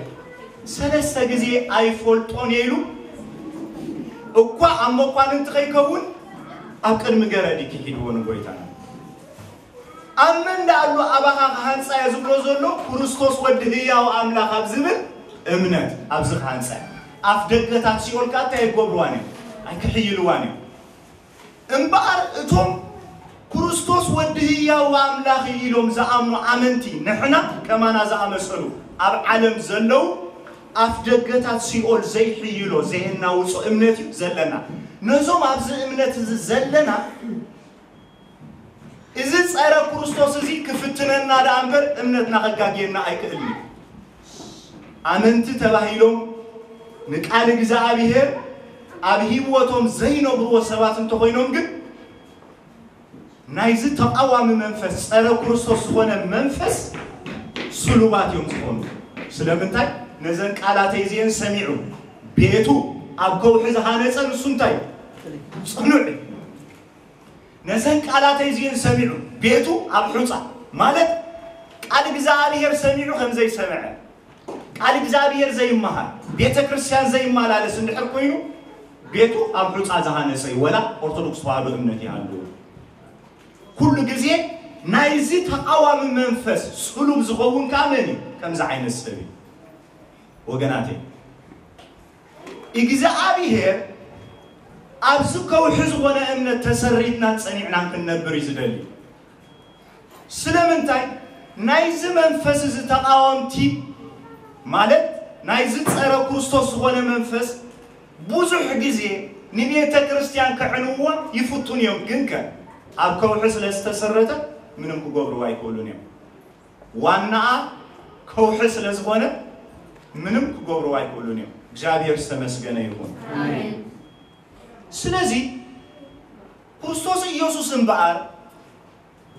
ሰለስተ ግዜ ኣይፈልጦን እየ ኢሉ እኳ ኣብ መኳንንቲ ከይከውን ኣብ ቅድሚ ገረድ ክሒድዎ ንጎይታ። ኣብ መን ደኣ ኣሎ ኣባኻ ክሃንጻ እየ ዝብሎ ዘሎ? ክርስቶስ ወዲ ህያው ኣምላኽ ኣብ ዝብል እምነት ኣብዚ ክሃንጻ እየ። ኣፍ ደገታት ሲኦል ከኣ እንታይ ኣይገብርዋን እዮም? ኣይክሕይልዋን እዮም። እምበኣር እቶም ክርስቶስ ወዲ ህያው ኣምላኽ እዩ ኢሎም ዝኣምኑ ኣመንቲ፣ ንሕና ከማና ዝኣመሰሉ ኣብ ዓለም ዘለዉ፣ ኣፍ ደገታት ሲኦል ዘይሕይሎ፣ ዘየናውጾ እምነት እዩ ዘለና። ነዞም ኣብዚ እምነት እዚ ዘለና እዚ ጸረ ክርስቶስ እዚ ክፍትነና ደኣ እምበር እምነትና ከጋግየና ኣይክእልን እዩ። ኣመንቲ ተባሂሎም ንቃል እግዚኣብሔር ኣብ ህይወቶም ዘይነብርዎ ሰባት እንተኾይኖም ግን ናይዚ ተቃዋሚ መንፈስ ጸረ ክርስቶስ ዝኾነ መንፈስ ስሉባት እዮም ዝኾኑ። ስለምንታይ? ነዘን ቃላተይ እዚአን ሰሚዑ ቤቱ ኣብ ከውሒ ዝሃነጸ ንሱ እንታይ እዩ? ጽኑዕ እዩ። ነዘን ቃላተይ እዚአን ሰሚዑ ቤቱ ኣብ ሑጻ ማለት ቃል እግዚኣብሔር ሰሚዑ ከም ዘይሰምዐ ቃል እግዚኣብሔር ዘይመሃር ቤተ ክርስቲያን ዘይመላለስ እንድሕር ኮይኑ ቤቱ ኣብ ሑጻ ዝሃነጸ እዩ። ወላ ኦርቶዶክስ ተዋህዶ እምነት ይሃሉ ኩሉ ግዜ ናይዚ ተቃዋሚ መንፈስ ስሉብ ዝኸውን ከዓ መን እዩ? ከምዚ ዓይነት ሰብ እዩ። ወገናተይ እግዚኣብሔር ኣብዚ ከውሒ ዝኾነ እምነት ተሰሪትና ጸኒዕና ክንነብር እዩ ዝደሊ። ስለምንታይ ናይዚ መንፈስ እዚ ተቃወምቲ ማለት ናይዚ ጸረ ክርስቶስ ዝኾነ መንፈስ ብዙሕ ግዜ ንቤተ ክርስቲያን ከዕንዋ ይፍቱን እዮም። ግን ከ ኣብ ከውሒ ስለ ዝተሰረተ ምንም ክገብርዋ ኣይክእሉን እዮም። ዋናኣ ከውሒ ስለ ዝኾነ ምንም ክገብርዋ ኣይክእሉን እዮም። እግዚኣብሔር ዝተመስገነ ይኹን። ስለዚ ክርስቶስ ኢየሱስ እምበኣር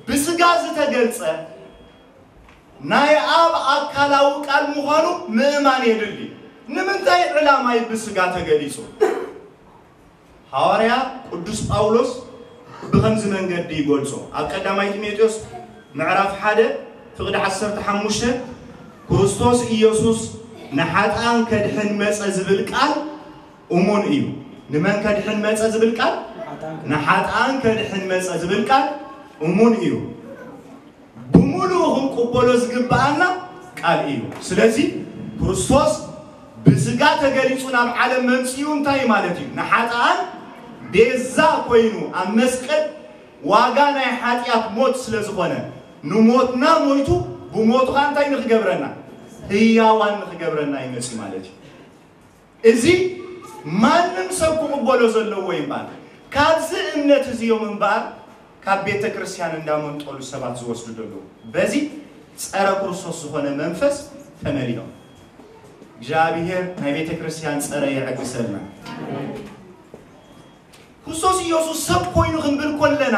ብስጋ ዝተገልጸ ናይ ኣብ ኣካላዊ ቃል ምዃኑ ምእማን የድሊ። ንምንታይ ዕላማይ ብስጋ ተገሊጹ? ሃዋርያ ቅዱስ ጳውሎስ ብኸምዚ መንገዲ ይገልጾ። ኣብ ቀዳማይ ጢሞቴዎስ ምዕራፍ ሓደ ፍቕዲ ዓሰርተ ሓሙሽተ ክርስቶስ ኢየሱስ ንሓጥኣን ከድሕን መጸ ዝብል ቃል እሙን እዩ። ንመን ከድሕን መጸ ዝብል ቃል? ንሓጥኣን ከድሕን መጸ ዝብል ቃል እሙን እዩ። ብምሉኡ ክንቅበሎ ዝግብኣና ቃል እዩ። ስለዚ ክርስቶስ ብስጋ ተገሊጹ ናብ ዓለም መምጽኡ እንታይ ማለት እዩ? ንሓጥኣን ቤዛ ኮይኑ ኣብ መስቀል ዋጋ ናይ ሓጢኣት ሞት ስለ ዝኾነ ንሞትና ሞይቱ ብሞቱ ኸዓ እንታይ ንክገብረና? ህያዋን ንክገብረና ይመጽእ ማለት እዩ። እዚ ማንም ሰብ ክቕበሎ ዘለዎ ይባል። ካብዚ እምነት እዚኦም እምበኣር ካብ ቤተ ክርስቲያን እንዳመንጠሉ ሰባት ዝወስዱ ዘለዉ በዚ ጸረ ክርስቶስ ዝኾነ መንፈስ ተመሊኦም። እግዚኣብሔር ናይ ቤተ ክርስቲያን ጸረ የዕግሰልና። ክርስቶስ ኢየሱስ ሰብ ኮይኑ ክንብል ኮለና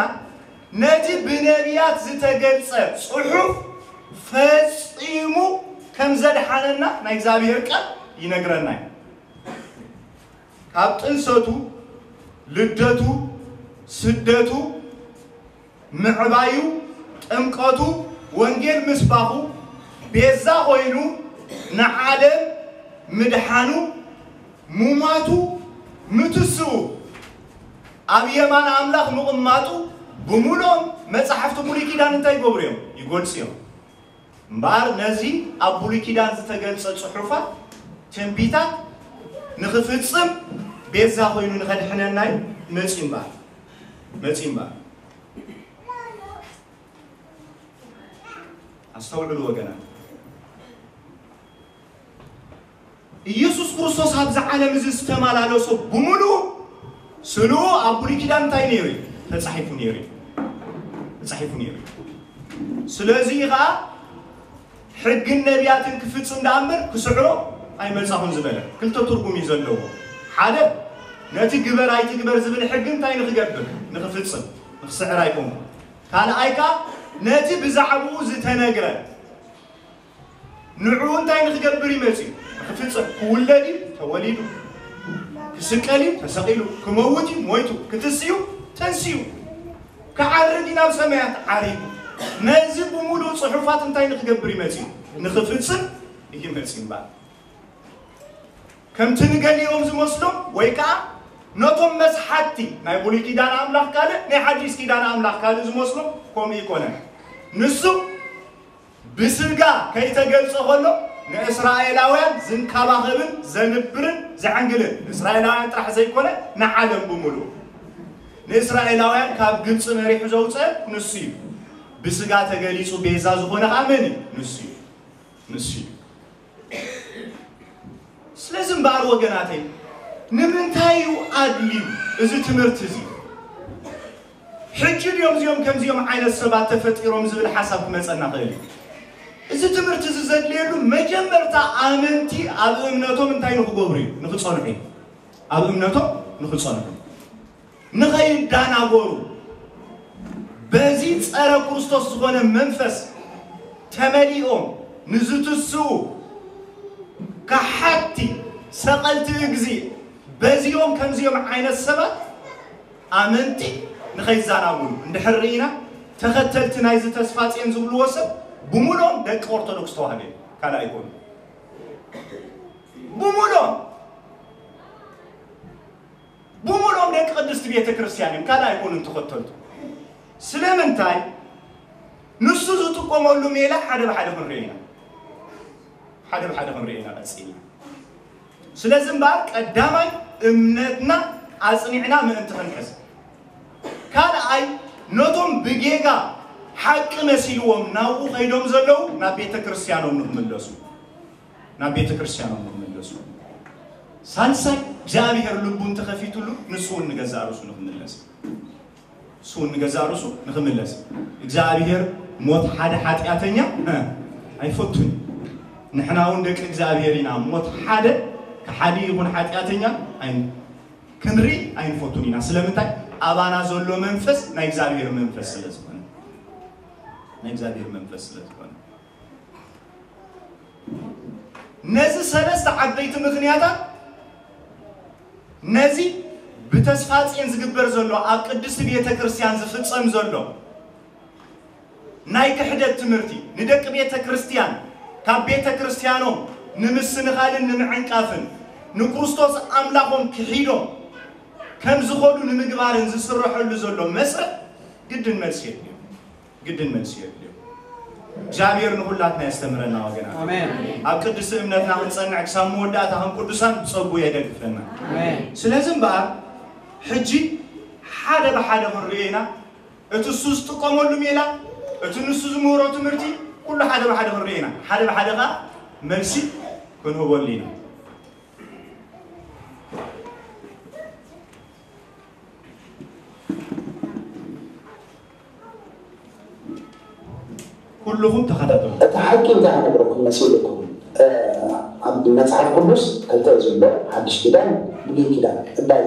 ነቲ ብነቢያት ዝተገልጸ ጽሑፍ ፈጺሙ ከም ዘድሓነና ናይ እግዚኣብሔር ቃል ይነግረና እዩ። ካብ ጥንሰቱ፣ ልደቱ፣ ስደቱ፣ ምዕባዩ፣ ጥምቀቱ፣ ወንጌል ምስባኹ፣ ቤዛ ኮይኑ ንዓለም ምድሓኑ፣ ሙማቱ፣ ምትስኡ፣ ኣብ የማን ኣምላኽ ምቕማጡ ብምሉኦም መጻሕፍቲ ብሉይ ኪዳን እንታይ ይገብሩ እዮም? ይገልጹ እዮም። እምበኣር ነዚ ኣብ ብሉይ ኪዳን ዝተገልጸ ጽሑፋት ትንቢታት ንኽፍጽም ቤዛ ኮይኑ ንኸድሕነና እዩ መጺኡ እምበኣር መጺኡ እምበኣር ኣስተውዕሉ ወገናት። ኢየሱስ ክርስቶስ ኣብዚ ዓለም እዚ ዝተመላለሶ ብምሉኡ ስልኡ ኣብ ብሉይ ኪዳን እንታይ ነይሩ እዩ? ተጻሒፉ ነይሩ እዩ። ተጻሒፉ ነይሩ እዩ። ስለዚ ከዓ ሕግን ነቢያትን ክፍጽም ደኣ እምበር ክስዕሮ ኣይመጻኹን ዝበለ ክልተ ትርጉም እዩ ዘለዎ። ሓደ ነቲ ግበር ኣይትግበር ዝብል ሕጊ እንታይ ንክገብር ንክፍጽም ንክስዕር ኣይኮንኩ። ካልኣይ ከዓ ነቲ ብዛዕባኡ ዝተነግረ ንዕኡ እንታይ ንክገብር ይመጽእ እዩ? ንክፍጽም። ክውለድ እዩ ተወሊዱ፣ ክስቀል እዩ ተሰቒሉ፣ ክመውት እዩ ሞይቱ፣ ክትስ እዩ ተንስዩ፣ ክዓርግ እዩ ናብ ሰማያት ዓሪጉ። ነዚ ብምሉእ ጽሑፋት እንታይ ንክገብር ይመጽእ እዩ? ንክፍጽም እዩ ይመጽእ እምበኣር። ከምቲ ንገሊኦም ዝመስሎም ወይ ከዓ ነቶም መስሓቲ ናይ ብሉይ ኪዳን ኣምላኽ ካልእ ናይ ሓዲስ ኪዳን ኣምላኽ ካልእ ዝመስሎም ከምኡ ይኮነ። ንሱ ብስጋ ከይተገልጸ ከሎ ንእስራኤላውያን ዝንከባኸብን ዘንብርን ዘዕንግልን እስራኤላውያን ጥራሕ ዘይኮነ ንዓለም ብምሉእ ንእስራኤላውያን ካብ ግብፂ መሪሑ ዘውፀ ንሱ እዩ። ብስጋ ተገሊፁ ቤዛ ዝኾነ ከዓ መን እዩ? ንሱ እዩ። ንሱ እዩ። ስለዚ እምበኣር ወገናተይ ንምንታይ እዩ ኣድልዩ እዚ ትምህርቲ እዚ? ሕጂ ድዮም እዚኦም ከምዚኦም ዓይነት ሰባት ተፈጢሮም ዝብል ሓሳብ ክመጸና ክእል እዩ። እዚ ትምህርቲ እዚ ዘድልየሉ መጀመርታ ኣመንቲ ኣብ እምነቶም እንታይ ንክገብሩ እዩ? ንክጸንሑ እዩ። ኣብ እምነቶም ንክጸንሑ፣ ንኸይዳናጎሩ፣ በዚ ጸረ ክርስቶስ ዝኾነ መንፈስ ተመሊኦም ንዝትስኡ ከሓቲ ሰቐልቲ እግዚእ፣ በዚኦም ከምዚኦም ዓይነት ሰባት ኣመንቲ ንኸይዛናጉሉ እንድሕር ርኢና፣ ተኸተልቲ ናይዚ ተስፋ ጼን ዝብልዎ ሰብ ብሙሉኦም ደቂ ኦርቶዶክስ ተዋህዶ እዮም። ካልእ ኣይኮኑ። ብሙሉኦም ብሙሉኦም ደቂ ቅድስቲ ቤተ ክርስቲያን እዮም። ካልእ ኣይኮኑን ተኸተልቱ። ስለምንታይ? ንሱ ዝጥቀመሉ ሜላ ሓደ ብሓደ ክንርኢ ኢና። ሓደ ብሓደ ክንርኢ ኢና ቀጺልና። ስለዚ እምበኣር ቀዳማይ እምነትና ኣጽኒዕና ምእንቲ ክንሕዝ፣ ካልኣይ ነቶም ብጌጋ ሓቂ መሲልዎም ናብኡ ከይዶም ዘለዉ ናብ ቤተ ክርስቲያኖም ንክምለሱ፣ ናብ ቤተ ክርስቲያኖም ንክምለሱ፣ ሳልሳይ እግዚኣብሔር ልቡ እንተኸፊቱሉ ንሱ እውን ንገዛእ ርእሱ ንክምለስ፣ ንሱ እውን ንገዛእ ርእሱ ንክምለስ። እግዚኣብሔር ሞት ሓደ ሓጢኣተኛ እ፣ ኣይፈቱን። ንሕና እውን ደቂ እግዚኣብሔር ኢና። ሞት ሓደ ከሓዲ ይኹን ሓጢኣተኛ ኣይ-፣ ክንርኢ ኣይንፈቱን ኢና። ስለምንታይ? ኣባና ዘሎ መንፈስ ናይ እግዚኣብሔር መንፈስ ስለ ዝኾነ፣ ናይ እግዚኣብሔር መንፈስ ስለ ዝኾነ። ነዚ ሰለስተ ዓበይቲ ምኽንያታት፣ ነዚ ብተስፋ ጼን ዝግበር ዘሎ፣ ኣብ ቅድስቲ ቤተ ክርስቲያን ዝፍጸም ዘሎ ናይ ክሕደት ትምህርቲ፣ ንደቂ ቤተ ክርስቲያን ካብ ቤተ ክርስቲያኖም ንምስንኻልን ንምዕንቃፍን፣ ንክርስቶስ ኣምላኾም ክሒዶም ከም ዝኸዱ ንምግባርን ዝስረሐሉ ዘሎ መስርሕ ግድን መልሲ የድልዮ። ግድን መልሲ የድልዮ። እግዚኣብሔር ንኹላትና የስተምረና ወገናት። ኣሜን። ኣብ ቅድስቲ እምነትና ክንጸንዕ ክሳብ መወዳእታ ከም ቅዱሳን ብጸጉ የደግፈና። ኣሜን። ስለዚ እምበኣር ሕጂ ሓደ ብሓደ ክንርእዮ ኢና። እቲ እሱ ዝጥቀመሉ ሜላ፣ እቲ ንሱ ዝምህሮ ትምህርቲ፣ ኩሉ ሓደ ብሓደ ክንርእዮ ኢና። ሓደ ብሓደ ከኣ መልሲ ክንህበሉ ኢና። ኩልኹም ተኸታተሉ። እቲ ሓቂ እንታይ ክነግረኩም መሲልኩም? እ፣ ኣብ መጽሓፍ ቅዱስ ክልተ እዩ ዘሎ፣ ሓድሽ ኪዳን፣ ብሉይ ኪዳን። እባይ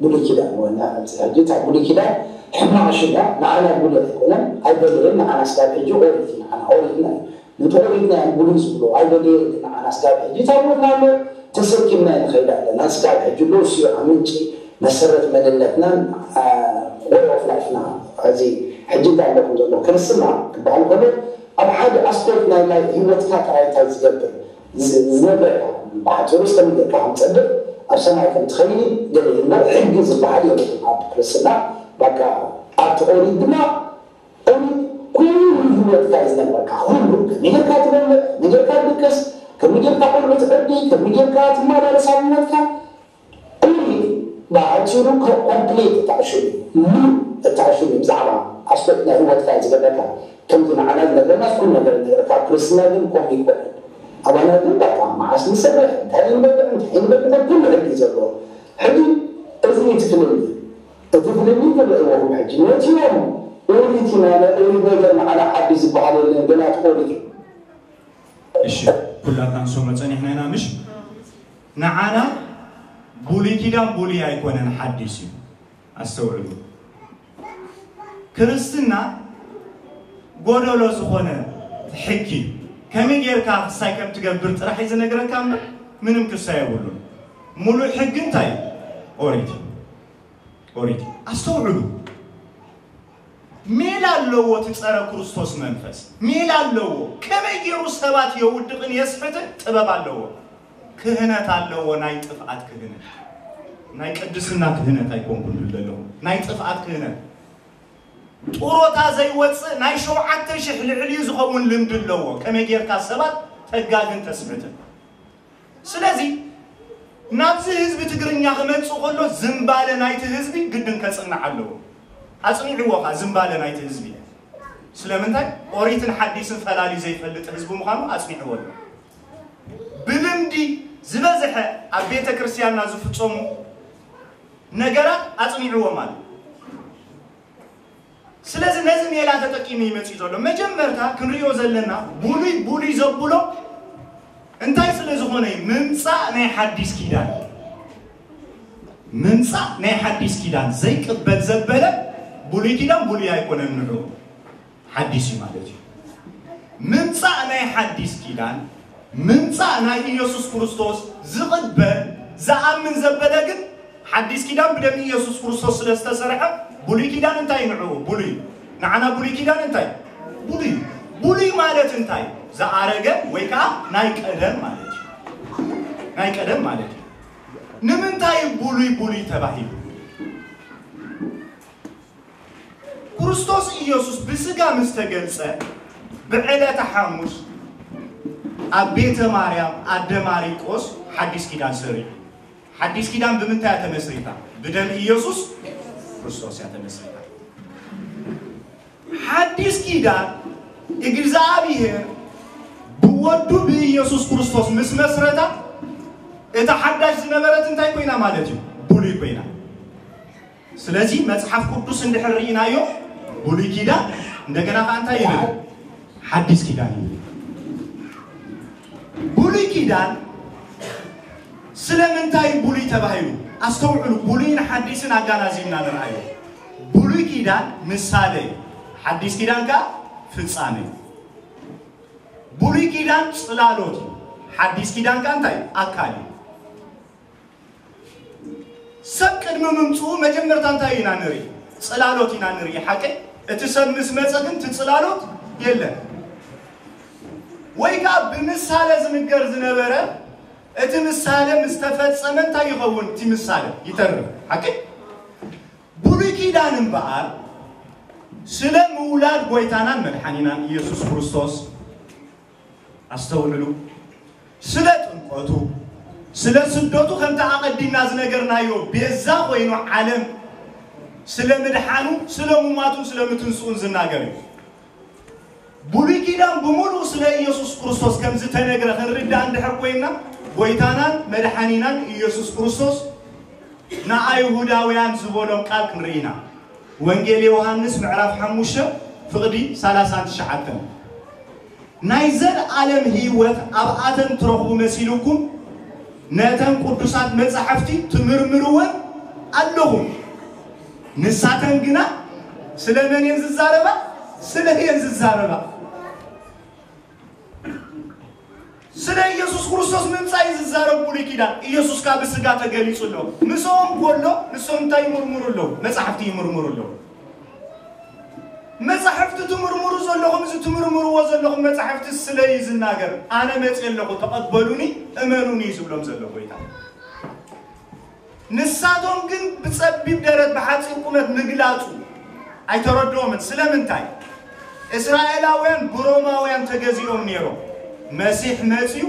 ብሉይ ኪዳን ወና ኣብዚ ሕጂ እታ ብሉይ ኪዳን ሕማቕ ሽም እያ፣ ንዓና ብሉይ ኣይኮነን፣ ኣይደለየን፣ ንዓና ስጋብ ሕጂ ኦሪት እዩ፣ ንዓና ኦሪትና እዩ። ነቲ ኦሪትና እዮም ብሉይ ዝብሎ፣ ኣይደለየን፣ ንዓና ስጋብ ሕጂ ታቦትና ኣሎ፣ ተሰኪምና ንኸይድ ኣለና። ስጋብ ሕጂ ኣሎ፣ እሱ እዩ ምንጪ መሰረት መንነትናን፣ አ፣ way of life ና። እዚ ሕጂ እንታይ ኣለኩም ዘሎ ክርስትና ክበሃል ከሎ፣ ኣብ ሓደ ኣስፔክት ናይ፣ ናይ ህይወትካ ጥራይ እንታይ ዝገብር፣ ዝ-፣ ዝነግረካ፣ ብሓፂሩ እስከ ምገርካ ከም ፀድቅ፣ ኣብ ሰማይ ከም ትኸይድ ገለ እምበር ሕጊ ዝበሃል የብሉን ኣብ ክርስትና። በቃ ኣብቲ ኦሪት ድማ ኦሪት ኩሉ ህይወትካ እዩ ዝነግረካ። ኩሉ ከመይ ጌርካ ትበልዕ፣ ከመይ ጌርካ ትድቅስ፣ ከመይ ጌርካ ቆልዑ ትዕቢ፣ ከመይ ጌርካ ትመላለስ ኣብ ህይወትካ። ኦሪት ብኣጭሩ ኮምፕሊት እታ ዕሹል እዩ። ሙሉእ እታ ዕሹል እዩ። ብዛዕባ ኣስፔክት ናይ ህይወትካ እዩ ዝነግረካ። ከምዚ ንዓና ዝነግረና ኩሉ ነገር ይነግረካ። ኣብ ክርስትና ግን ከምኡ ይኮነን። ኣባና ግን በቃ መዓስ ንሰርሕ፣ እንታይ ንበልዕ፣ እንታይ ንበልዕ፣ ኩሉ ሕጊ እዩ ዘለዎ። ሕጂ እዚ እዩ እቲ ፍልልይ። እቲ ፍልልይ ትርእይዎም ሕጂ ነቲኦም ኦሪት ኢና፣ ናይ ኦሪት ነገር ንዓና ሓድሽ ዝበሃል የለን፣ ገና እቲ ኦሪት እዩ። እሺ፣ ኩላትና ንሰምዖ ጸኒሕና ኢና፣ ምሽ? ንዓና ብሉይ ኪዳን ብሉይ ኣይኮነን፣ ሓድሽ እዩ። ኣስተውዕሉ። ክርስትና ጎደሎ ዝኾነ ሕጊ እዩ። ከመይ ጌርካ ክሳይ ከም ትገብር ጥራሕ እዩ ዝነግረካ እምበር ምንም ክሳይ የብሉን። ሙሉእ ሕጊ እንታይ እዩ? ኦሪት እዩ። ኦሪት እዩ። ኣስተውዕሉ። ሜላ ኣለዎ እቲ ጸረ ክርስቶስ መንፈስ። ሜላ ኣለዎ። ከመይ ገይሩ ሰባት የውድቕን የስሕትን ጥበብ ኣለዎ። ክህነት ኣለዎ፣ ናይ ጥፍኣት ክህነት። ናይ ቅድስና ክህነት ኣይኮንኩን ዝብል ዘለኹ። ናይ ጥፍኣት ክህነት። ጡሮታ ዘይወጽእ ናይ ሸውዓተ ሽሕ ልዕሊኡ ዝኸውን ልምዲ ኣለዎ። ከመይ ጌርካ ሰባት ተጋግን ተስሕትን። ስለዚ ናብዚ ህዝቢ ትግርኛ ክመጽእ ከሎ ዝምባለ ናይቲ ህዝቢ ግድን ከጽንዕ ኣለዎ። ኣጽኒዕዎ ኸኣ ዝምባለ ናይቲ ህዝቢ። ስለምንታይ? ኦሪትን ሓዲስን ፈላልዩ ዘይፈልጥ ህዝቢ ምዃኑ ኣጽኒዕዎ ኣሎ። ብልምዲ ዝበዝሐ ኣብ ቤተ ክርስቲያንና ዝፍጸሙ ነገራት ኣጽኒዕዎም ኣሎ። ስለዚ ነዚ ሜላ ተጠቂሙ ይመጽእ ዘሎ። መጀመርታ ክንሪኦ ዘለና ብሉይ ብሉይ ዘብሎ እንታይ ስለ ዝኾነ እዩ? ምምጻእ ናይ ሓዲስ ኪዳን። ምምጻእ ናይ ሓዲስ ኪዳን ዘይቅበል ዘበለ ብሉይ ኪዳን ብሉይ ኣይኮነን፣ ንዑ ሓዲስ እዩ ማለት እዩ። ምምጻእ ናይ ሓዲስ ኪዳን፣ ምምጻእ ናይ ኢየሱስ ክርስቶስ ዝቕበል ዝኣምን ዘበለ ግን ሓዲስ ኪዳን ብደም ኢየሱስ ክርስቶስ ስለ ዝተሰርሐ፣ ብሉይ ኪዳን እንታይ ንዑ? ብሉይ። ንዓና ብሉይ ኪዳን እንታይ? ብሉይ። ብሉይ ማለት እንታይ? ዝኣረገ ወይ ከዓ ናይ ቀደም ማለት እዩ። ናይ ቀደም ማለት እዩ። ንምንታይ ብሉይ ብሉይ ተባሂሉ? ክርስቶስ ኢየሱስ ብስጋ ምስ ተገልጸ፣ ብዕለተ ሓሙስ ኣብ ቤተ ማርያም ኣደ ማሪቆስ ሓዲስ ኪዳን ሰሪዑ። ሓዲስ ኪዳን ብምንታይ እያ ተመስሪታ? ብደም ኢየሱስ ክርስቶስ እያ ተመስሪታ። ሓዲስ ኪዳን እግዚኣብሔር ብወዱ ብኢየሱስ ክርስቶስ ምስ መስረታ፣ እታ ሓዳሽ ዝነበረት እንታይ ኮይና ማለት እዩ? ብሉይ ኮይና። ስለዚ መጽሓፍ ቅዱስ እንድሕር ርኢናዮ፣ ብሉይ ኪዳን እንደገና ከኣ እንታይ ይብል? ሓዲስ ኪዳን ይብል። ብሉይ ኪዳን ስለምንታይ ብሉይ ተባሂሉ? ኣስተውዕሉ፣ ብሉይን ሓዲስን ኣጋናዚብና ንርኣዮ። ብሉይ ኪዳን ምሳሌ እዩ፣ ሓዲስ ኪዳን ከኣ ፍጻሜ እዩ። ብሉይ ኪዳን ጽላሎት እዩ፣ ሓዲስ ኪዳን ከኣ እንታይ? ኣካል እዩ። ሰብ ቅድሚ ምምጽኡ መጀመርታ እንታይ ኢና ንርኢ? ጽላሎት ኢና ንርኢ። ሓቂ? እቲ ሰብ ምስ መጸ ግን እቲ ጽላሎት የለን። ወይ ከዓ ብምሳሌ ዝንገር ዝነበረ፣ እቲ ምሳሌ ምስ ተፈጸመ እንታይ ይኸውን? እቲ ምሳሌ ይተርፍ። ሓቂ? ብሉይ ኪዳን እምበኣር ስለ ምውላድ ጎይታናን መድሓኒናን ኢየሱስ ክርስቶስ፣ ኣስተውዕሉ፣ ስለ ጥምቀቱ፣ ስለ ስደቱ፣ ከምቲ ኣቐዲምና ዝነገርናዮ፣ ቤዛ ኮይኑ ዓለም ስለ ምድሓኑ፣ ስለ ሙማቱን ስለ ምትንስኡን ዝናገር እዩ። ብሉይ ኪዳን ብምሉኡ ስለ ኢየሱስ ክርስቶስ ከም ዝተነግረ ክንርዳእ እንድሕር ኮይንና፣ ጎይታናን መድሓኒናን ኢየሱስ ክርስቶስ ንኣይሁዳውያን ዝበሎም ቃል ክንርኢ ኢና። ወንጌል ዮሃንስ ምዕራፍ ሓሙሽተ ፍቕዲ ሰላሳን ትሽዓተን። ናይ ዘለኣለም ህይወት ኣብኣተን ትረኽቡ መሲልኩም፣ ነተን ቅዱሳት መጻሕፍቲ ትምርምርወን ኣለኹም። ንሳተን ግና ስለ መን እየን ዝዛረባ? ስለ እየን ዝዛረባ። ስለ ኢየሱስ ክርስቶስ ምምጻእ እዩ ዝዛረብ ብሉይ ኪዳን። ኢየሱስ ካብ ስጋ ተገሊጹ ኣሎ። ምስኦም ከሎ ንሶም እንታይ ይምርምሩ ኣለዉ? መጻሕፍቲ ይምርምሩ ኣለዉ። መጻሕፍቲ ትምርምሩ ዘለኹም፣ እዚ ትምርምርዎ ዘለኹም መጻሕፍቲ ስለ እዩ ዝናገር። ኣነ መጽእ ኣለኹ፣ ተቐበሉኒ፣ እመኑኒ እዩ ዝብሎም ዘሎ ጎይታ። ንሳቶም ግን ብጸቢብ ደረት ብሓጺር ቁመት ምግላጹ ኣይተረድኦምን። ስለምንታይ? እስራኤላውያን ብሮማውያን ተገዚኦም ነይሮም። መሲሕ መጺኡ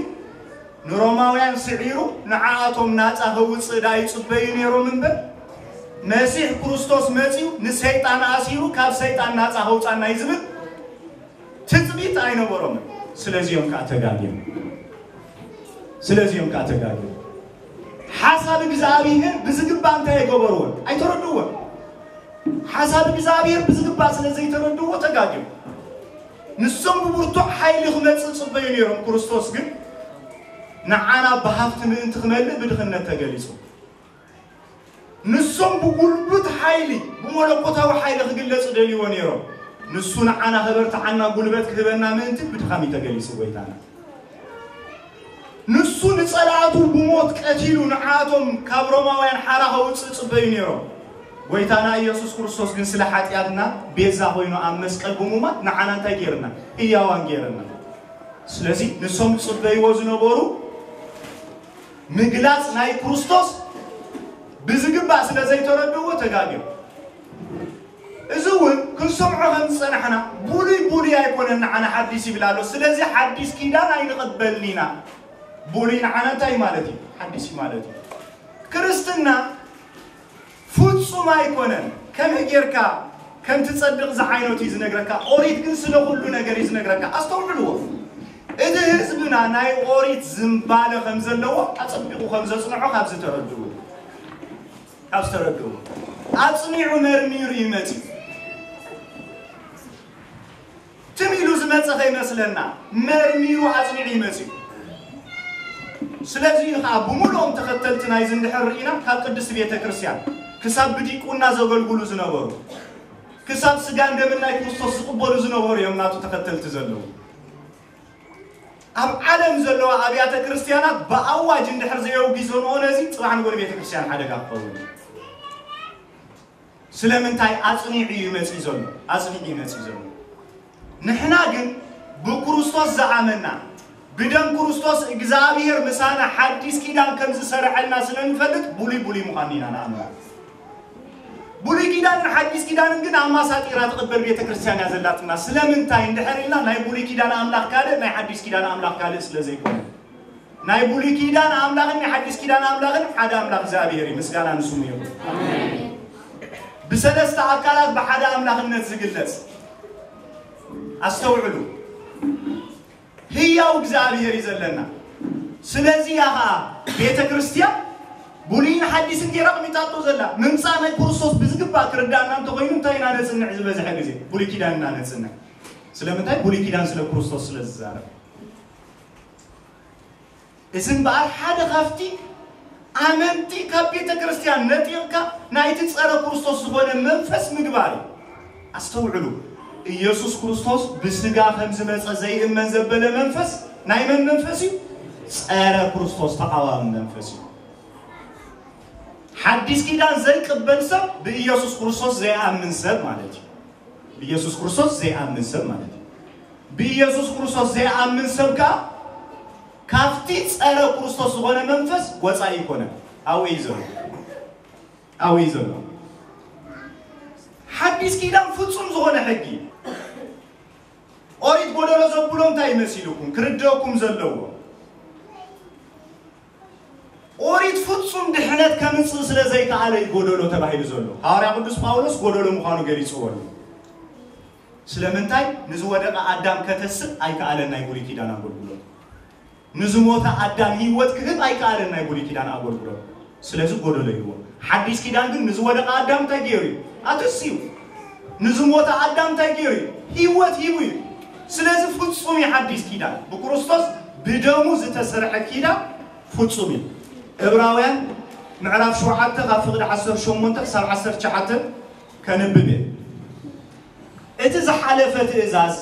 ንሮማውያን ስዒሩ ንዓኣቶም ናጻ ከውጽእ ደኣ ይጽበዩ ነይሮም እምበር፣ መሲሕ ክርስቶስ መጺኡ ንሰይጣን ኣሲሩ ካብ ሰይጣን ናጻ ከውጻና እዩ ዝብል ትጽቢት ኣይነበሮምን። ስለዚኦም ከኣ ተጋግዮም። ስለዚኦም ከኣ ተጋግዮም። ሓሳብ እግዚኣብሔር ብዝግባእ እንታይ ኣይገበርዎን? ኣይተረድእዎን። ሓሳብ እግዚኣብሔር ብዝግባእ ስለ ዘይተረድእዎ ተጋግዮም። ንሶም ብብርቱዕ ሓይሊ ክመጽእ ጽበዩ ነይሮም። ክርስቶስ ግን ንዓና ብሃብቲ ምእንቲ ክመልእ ብድኽነት ተገሊጹ። ንሶም ብጉልብት ሓይሊ፣ ብመለኮታዊ ሓይሊ ክግለጽ ደልይዎ ነይሮም። ንሱ ንዓና ከበርትዓና ጉልበት ክህበና ምእንቲ ብድኻም እዩ ተገሊጹ ጎይታና። ንሱ ንጸላእቱ ብሞት ቀቲሉ ንዓቶም ካብ ሮማውያን ሓራ ከውጽእ ጽበዩ ነይሮም። ጎይታና ኢየሱስ ክርስቶስ ግን ስለ ሓጢኣትና ቤዛ ኮይኑ ኣብ መስቀል ብሙማት ንዓና እንታይ ገይርና? ህያዋን ገይርና። ስለዚ ንሶም ዝጽበይዎ ዝነበሩ ምግላጽ ናይ ክርስቶስ ብዝግባእ ስለ ዘይተረድእዎ ተጋግዮም። እዚ እውን ክንሰምዖ ከም ዝጸናሕና ብሉይ ብሉይ ኣይኮነን ንዓና ሓዲስ ይብል ኣሎ። ስለዚ ሓዲስ ኪዳን ኣይንቕበልን ኢና። ብሉይ ንዓና እንታይ ማለት እዩ? ሓዲስ እዩ ማለት እዩ። ክርስትና ፍጹም ኣይኮነን። ከመይ ጌርካ ከም ትጸድቕ ዝዓይነቱ እዩ ዝነግረካ። ኦሪት ግን ስለ ኩሉ ነገር እዩ ዝነግረካ። ኣስተውዕልዎ። እቲ ህዝብና ናይ ኦሪት ዝንባለ ከም ዘለዎ ኣጸቢቑ ከም ዘጽንዖ ካብ ዝተረድኡ፣ ካብ ዝተረድኡ ኣጽኒዑ መርሚሩ እዩ መጺኡ። ትም ኢሉ ዝመጸ ከይመስለና፣ መርሚሩ ኣጽኒዑ ይመጽእ። ስለዚ እዩ ከዓ ብምሉኦም ተኸተልቲ ናይዚ እንድሕር ርኢና፣ ካብ ቅድስቲ ቤተ ክርስቲያን ክሳብ ብዲቁና ዘገልግሉ ዝነበሩ፣ ክሳብ ስጋን ደምን ናይ ክርስቶስ ዝቕበሉ ዝነበሩ እዮም ናቱ ተኸተልቲ ዘለዉ። ኣብ ዓለም ዘለዋ ኣብያተ ክርስቲያናት ብኣዋጅ እንድሕር ዘየውጊዞንኦ ነዚ፣ ጽባሕ ንጎኒ ቤተ ክርስቲያን ሓደጋ ክኸውን እዩ። ስለምንታይ? ኣጽኒዑ እዩ መጺእ ዘሎ፣ ኣጽኒዑ እዩ መጺእ ዘሎ። ንሕና ግን ብክርስቶስ ዝኣመና፣ ብደም ክርስቶስ እግዚኣብሔር ምሳና ሓዲስ ኪዳን ከም ዝሰርዐልና ስለ ንፈልጥ፣ ብሉይ ብሉይ ምዃን ኢና ንኣምና። ብሉይ ኪዳንን ሓዲስ ኪዳንን ግን ኣማሳጢራ ትቕበል ቤተ ክርስቲያን እያ ዘላትና። ስለምንታይ እንድሕር ኢልና፣ ናይ ብሉይ ኪዳን ኣምላኽ ካልእ፣ ናይ ሓዲስ ኪዳን ኣምላኽ ካልእ ስለ ዘይኮነ፣ ናይ ብሉይ ኪዳን ኣምላኽን ናይ ሓዲስ ኪዳን ኣምላኽን ሓደ ኣምላኽ እግዚኣብሔር እዩ። ምስጋና ንስሙ ይኹን። ብሰለስተ ኣካላት ብሓደ ኣምላኽነት ዝግለጽ፣ ኣስተውዕሉ፣ ህያው እግዚኣብሔር እዩ ዘለና። ስለዚ እያ ኸዓ ቤተ ክርስቲያን ብሉይን ሓዲስን ገይራ ኣቕሚጣቶ ዘላ። ምምጻእ ናይ ክርስቶስ ብዝግባእ ክርዳእና እንተኾይኑ፣ እንታይ ኢና ነጽንዕ? ዝበዝሐ ግዜ ብሉይ ኪዳን ኢና ነጽንዕ። ስለምንታይ? ብሉይ ኪዳን ስለ ክርስቶስ ስለ ዝዛረብ። እዚ እምበኣር ሓደ ካብቲ ኣመንቲ ካብ ቤተ ክርስቲያን ነጢቕካ ናይቲ ጸረ ክርስቶስ ዝኾነ መንፈስ ምግባር እዩ። ኣስተውዕሉ፣ ኢየሱስ ክርስቶስ ብስጋ ከም ዝመጸ ዘይእመን ዘበለ መንፈስ ናይ መን መንፈስ እዩ? ጸረ ክርስቶስ፣ ተቓዋሚ መንፈስ እዩ። ሓዲስ ኪዳን ዘይቅበል ሰብ ብኢየሱስ ክርስቶስ ዘይኣምን ሰብ ማለት እዩ። ብኢየሱስ ክርስቶስ ዘይኣምን ሰብ ማለት እዩ። ብኢየሱስ ክርስቶስ ዘይኣምን ሰብ ከኣ ካብቲ ጸረ ክርስቶስ ዝኾነ መንፈስ ወጻኢ ይኮነ። ኣብኡ እዩ ዘሎ። ኣብኡ እዩ ዘሎ። ሓዲስ ኪዳን ፍጹም ዝኾነ ሕጊ። ኦሪት ጎደሎ ዘብሎ እንታይ መሲልኩም? ክርደእኩም ዘለዎ፣ ኦሪት ፍጹም ድሕነት ከምጽእ ስለ ዘይከኣለ እዩ ጎደሎ ተባሂሉ ዘሎ። ሃዋርያ ቅዱስ ጳውሎስ ጎደሎ ምዃኑ ገሊጽዎ ኣሎ። ስለምንታይ? ንዝወደቐ ኣዳም ከተስእ ኣይከኣለን ናይ ብሉይ ኪዳን ኣገልግሎት። ንዝሞተ ኣዳም ህይወት ክህብ ኣይከኣለን ናይ ብሉይ ኪዳን ኣገልግሎት። ስለዚ ጎደሎ ይዎ። ሓዲስ ኪዳን ግን ንዝወደቐ ኣዳም እንታይ ገይሩ እዩ? ኣተስዩ። ንዝሞተ ኣዳም እንታይ ገይሩ እዩ? ህይወት ሂቡ እዩ። ስለዚ ፍጹም እዩ ሓዲስ ኪዳን። ብክርስቶስ ብደሙ ዝተሰርሐ ኪዳን ፍጹም እዩ። ዕብራውያን ምዕራፍ ሸውዓተ ካብ ፍቕዲ ዓሰርተ ሸሞንተ ክሳብ ዓሰርተ ትሽዓተ ከንብብ እየ። እቲ ዝሓለፈ ትእዛዝ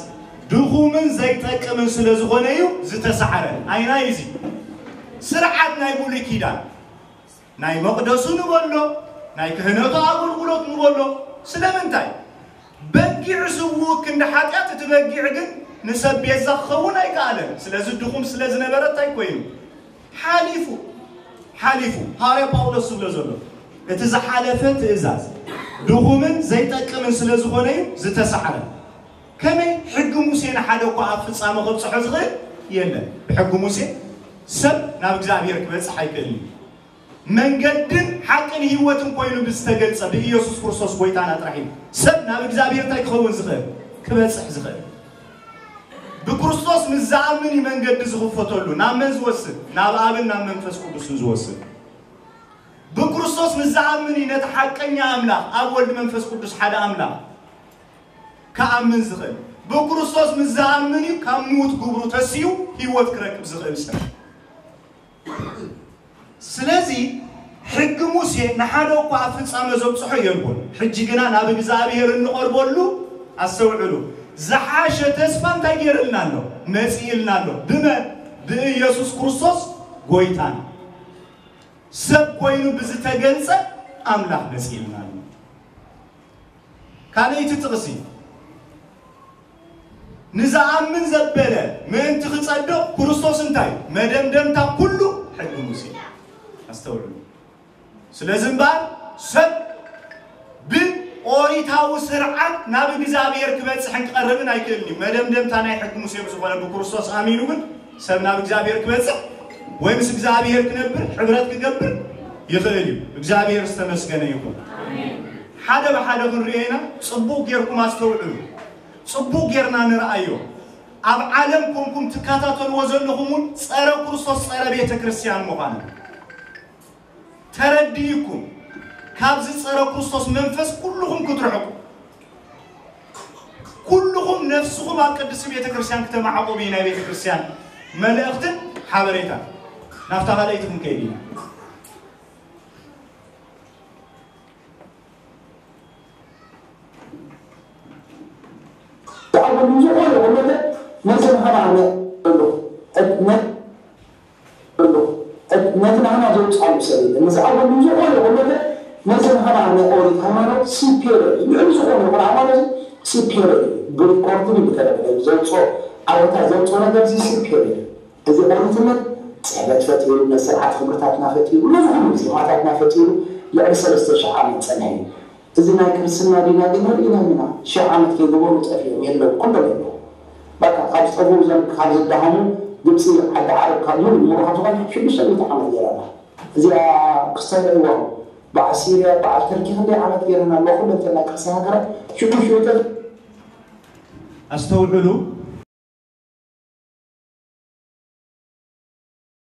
ድኹምን ዘይጠቅምን ስለ ዝኾነ እዩ ዝተሳዕረ። ኣይናይ እዚ ስርዓት ናይ ብሉይ ኪዳን፣ ናይ መቕደሱ ንበሎ፣ ናይ ክህነቱ ኣገልግሎት ንበሎ። ስለምንታይ? በጊዕ ስውእ ክንዲ ሓጢኣት፣ እቲ በጊዕ ግን ንሰብ ቤዛ ክኸውን ኣይከኣለን። ስለዚ ድኹም ስለ ዝነበረ እንታይ ኮይኑ? ሓሊፉ፣ ሓሊፉ። ሃዋርያ ጳውሎስ ዝብሎ ዘሎ፣ እቲ ዝሓለፈ ትእዛዝ ድኹምን ዘይጠቅምን ስለ ዝኾነ እዩ ዝተሳዕረ። ከመይ? ሕጊ ሙሴ ንሓደ እኳ ኣብ ፍጻመ ከብጽሖ ዝኽእል የለን። ብሕጊ ሙሴ ሰብ ናብ እግዚኣብሔር ክበጽሕ ኣይክእልን እዩ። መንገድን ሓቅን ህይወትን ኮይኑ ብዝተገልጸ ብኢየሱስ ክርስቶስ ጎይታና ጥራሕ እዩ ሰብ ናብ እግዚኣብሔር እንታይ ክኸውን ዝኽእል? ክበጽሕ ዝኽእል። ብክርስቶስ ምስ ዝኣምን እዩ መንገዲ ዝኽፈተሉ። ናብ መን ዝወስድ? ናብ ኣብን ናብ መንፈስ ቅዱስን ዝወስድ። ብክርስቶስ ምስ ዝኣምን እዩ ነቲ ሓቀኛ ኣምላኽ፣ ኣብ ወልድ መንፈስ ቅዱስ ሓደ ኣምላኽ ክኣምን ዝኽእል። ብክርስቶስ ምስ ዝኣምን እዩ ካብ ምዉት ግብሩ ተሲኡ ህይወት ክረክብ ዝኽእል ሰብ። ስለዚ ሕጊ ሙሴ ንሓደ እኳ ኣብ ፍጻመ ዘብጽሖ የልቦን። ሕጂ ግና ናብ እግዚኣብሔር እንቐርበሉ፣ ኣስተውዕሉ፣ ዝሓሸ ተስፋ እንታይ ገይርልና ኣሎ? መጺእልና ኣሎ። ብመን? ብኢየሱስ ክርስቶስ ጎይታና። ሰብ ኮይኑ ብዝተገልጸ ኣምላኽ መጺእልና ኣሎ። ካልኣይቲ ጥቕሲ፣ ንዝኣምን ዘበለ ምእንቲ ክጸድቕ ክርስቶስ እንታይ? መደምደምታ ኩሉ ሕጊ ሙሴ። ኣስተውዕሉ። ስለዚ እምበኣር ሰብ ብኦሪታዊ ስርዓት ናብ እግዚኣብሔር ክበጽሕን ክቐርብን ኣይክእልን እዩ። መደምደምታ ናይ ሕጊ ሙሴ ብዝኾነ ብክርስቶስ ኣሚኑ ግን ሰብ ናብ እግዚኣብሔር ክበጽሕ ወይ ምስ እግዚኣብሔር ክነብር ሕብረት ክገብር ይኽእል እዩ። እግዚኣብሔር ዝተመስገነ ይኹን። ሓደ ብሓደ ክንሪኦ ኢና። ጽቡቕ ጌርኩም ኣስተውዕሉ። ጽቡቕ ጌርና ንርኣዮ። ኣብ ዓለም ኮንኩም ትከታተልዎ ዘለኹም እውን ጸረ ክርስቶስ፣ ጸረ ቤተ ክርስቲያን ምዃኑ ተረዲእኩም፣ ካብዚ ጸረ ክርስቶስ መንፈስ ኩልኹም ክትርሕቁ። ኩልኹም ነፍስኹም ኣብ ቅድስቲ ቤተ ክርስቲያን ክተማዕቆቡ እዩ ናይ ቤተ ክርስቲያን መልእኽትን ሓበሬታን። ናብታ ካልኣይቲ ክንከይድ ኢና። ተኣወሉ ዝኾነ ይኹን ነገር ነቲ ንሕና ነ- ኣሎ። ነ- ኣሎ። ነቲ ንሕና ዘውፅኣሉ ሰብ የለን። ንዝኣወሉ ዝኾነ ይኹን ነገር ነቲ ንሕና ናይ ኦሪት ሃይማኖት ሲፔር እዩ። ልዕሊ ዝኾነ ይኹን ሃይማኖት ሲፔር እዩ። ብሪኮርድን ብተለበለ ዘውፅኦ ዓወታት ዘውፅኦ ነገር እዚ ሲፔር እዩ። እዚ ኦሪትነት ፅሕፈት ፈጢሩ፣ ናይ ስርዓት ክብርታትና ፈጢሩ፣ ነዚ ኩሉ ዜማታትና ፈጢሩ ልዕሊ ሰለስተ ሽሕ ዓመት ፀኒሑ እዩ። እዚ ናይ ክርስትና ዲና ግን ርኢናም ኢና። ሽሕ ዓመት ከይገበሩ ጠፊኦም የለው፣ ኩሎም የለው። በቃ ካብ ዝጠፍኡ እዞም ካብ ዝደሃሙ ግብፂ ዓዲ ዓረብ ካብ ሙሉ ሙሉ ካብ ዝኾነ ሽዱሽተ ሚእቲ ዓመት ገይራ ኣላ። እዚኣ ክስታይ ረእይዋ በዓል ሲርያ በዓል ተርኪ ክንደይ ዓመት ገይረን ኣለዋ። ኩለን እተን ናይ ክርስትያን ሃገራት ሽዱሽተ ኣስተውዕሉ።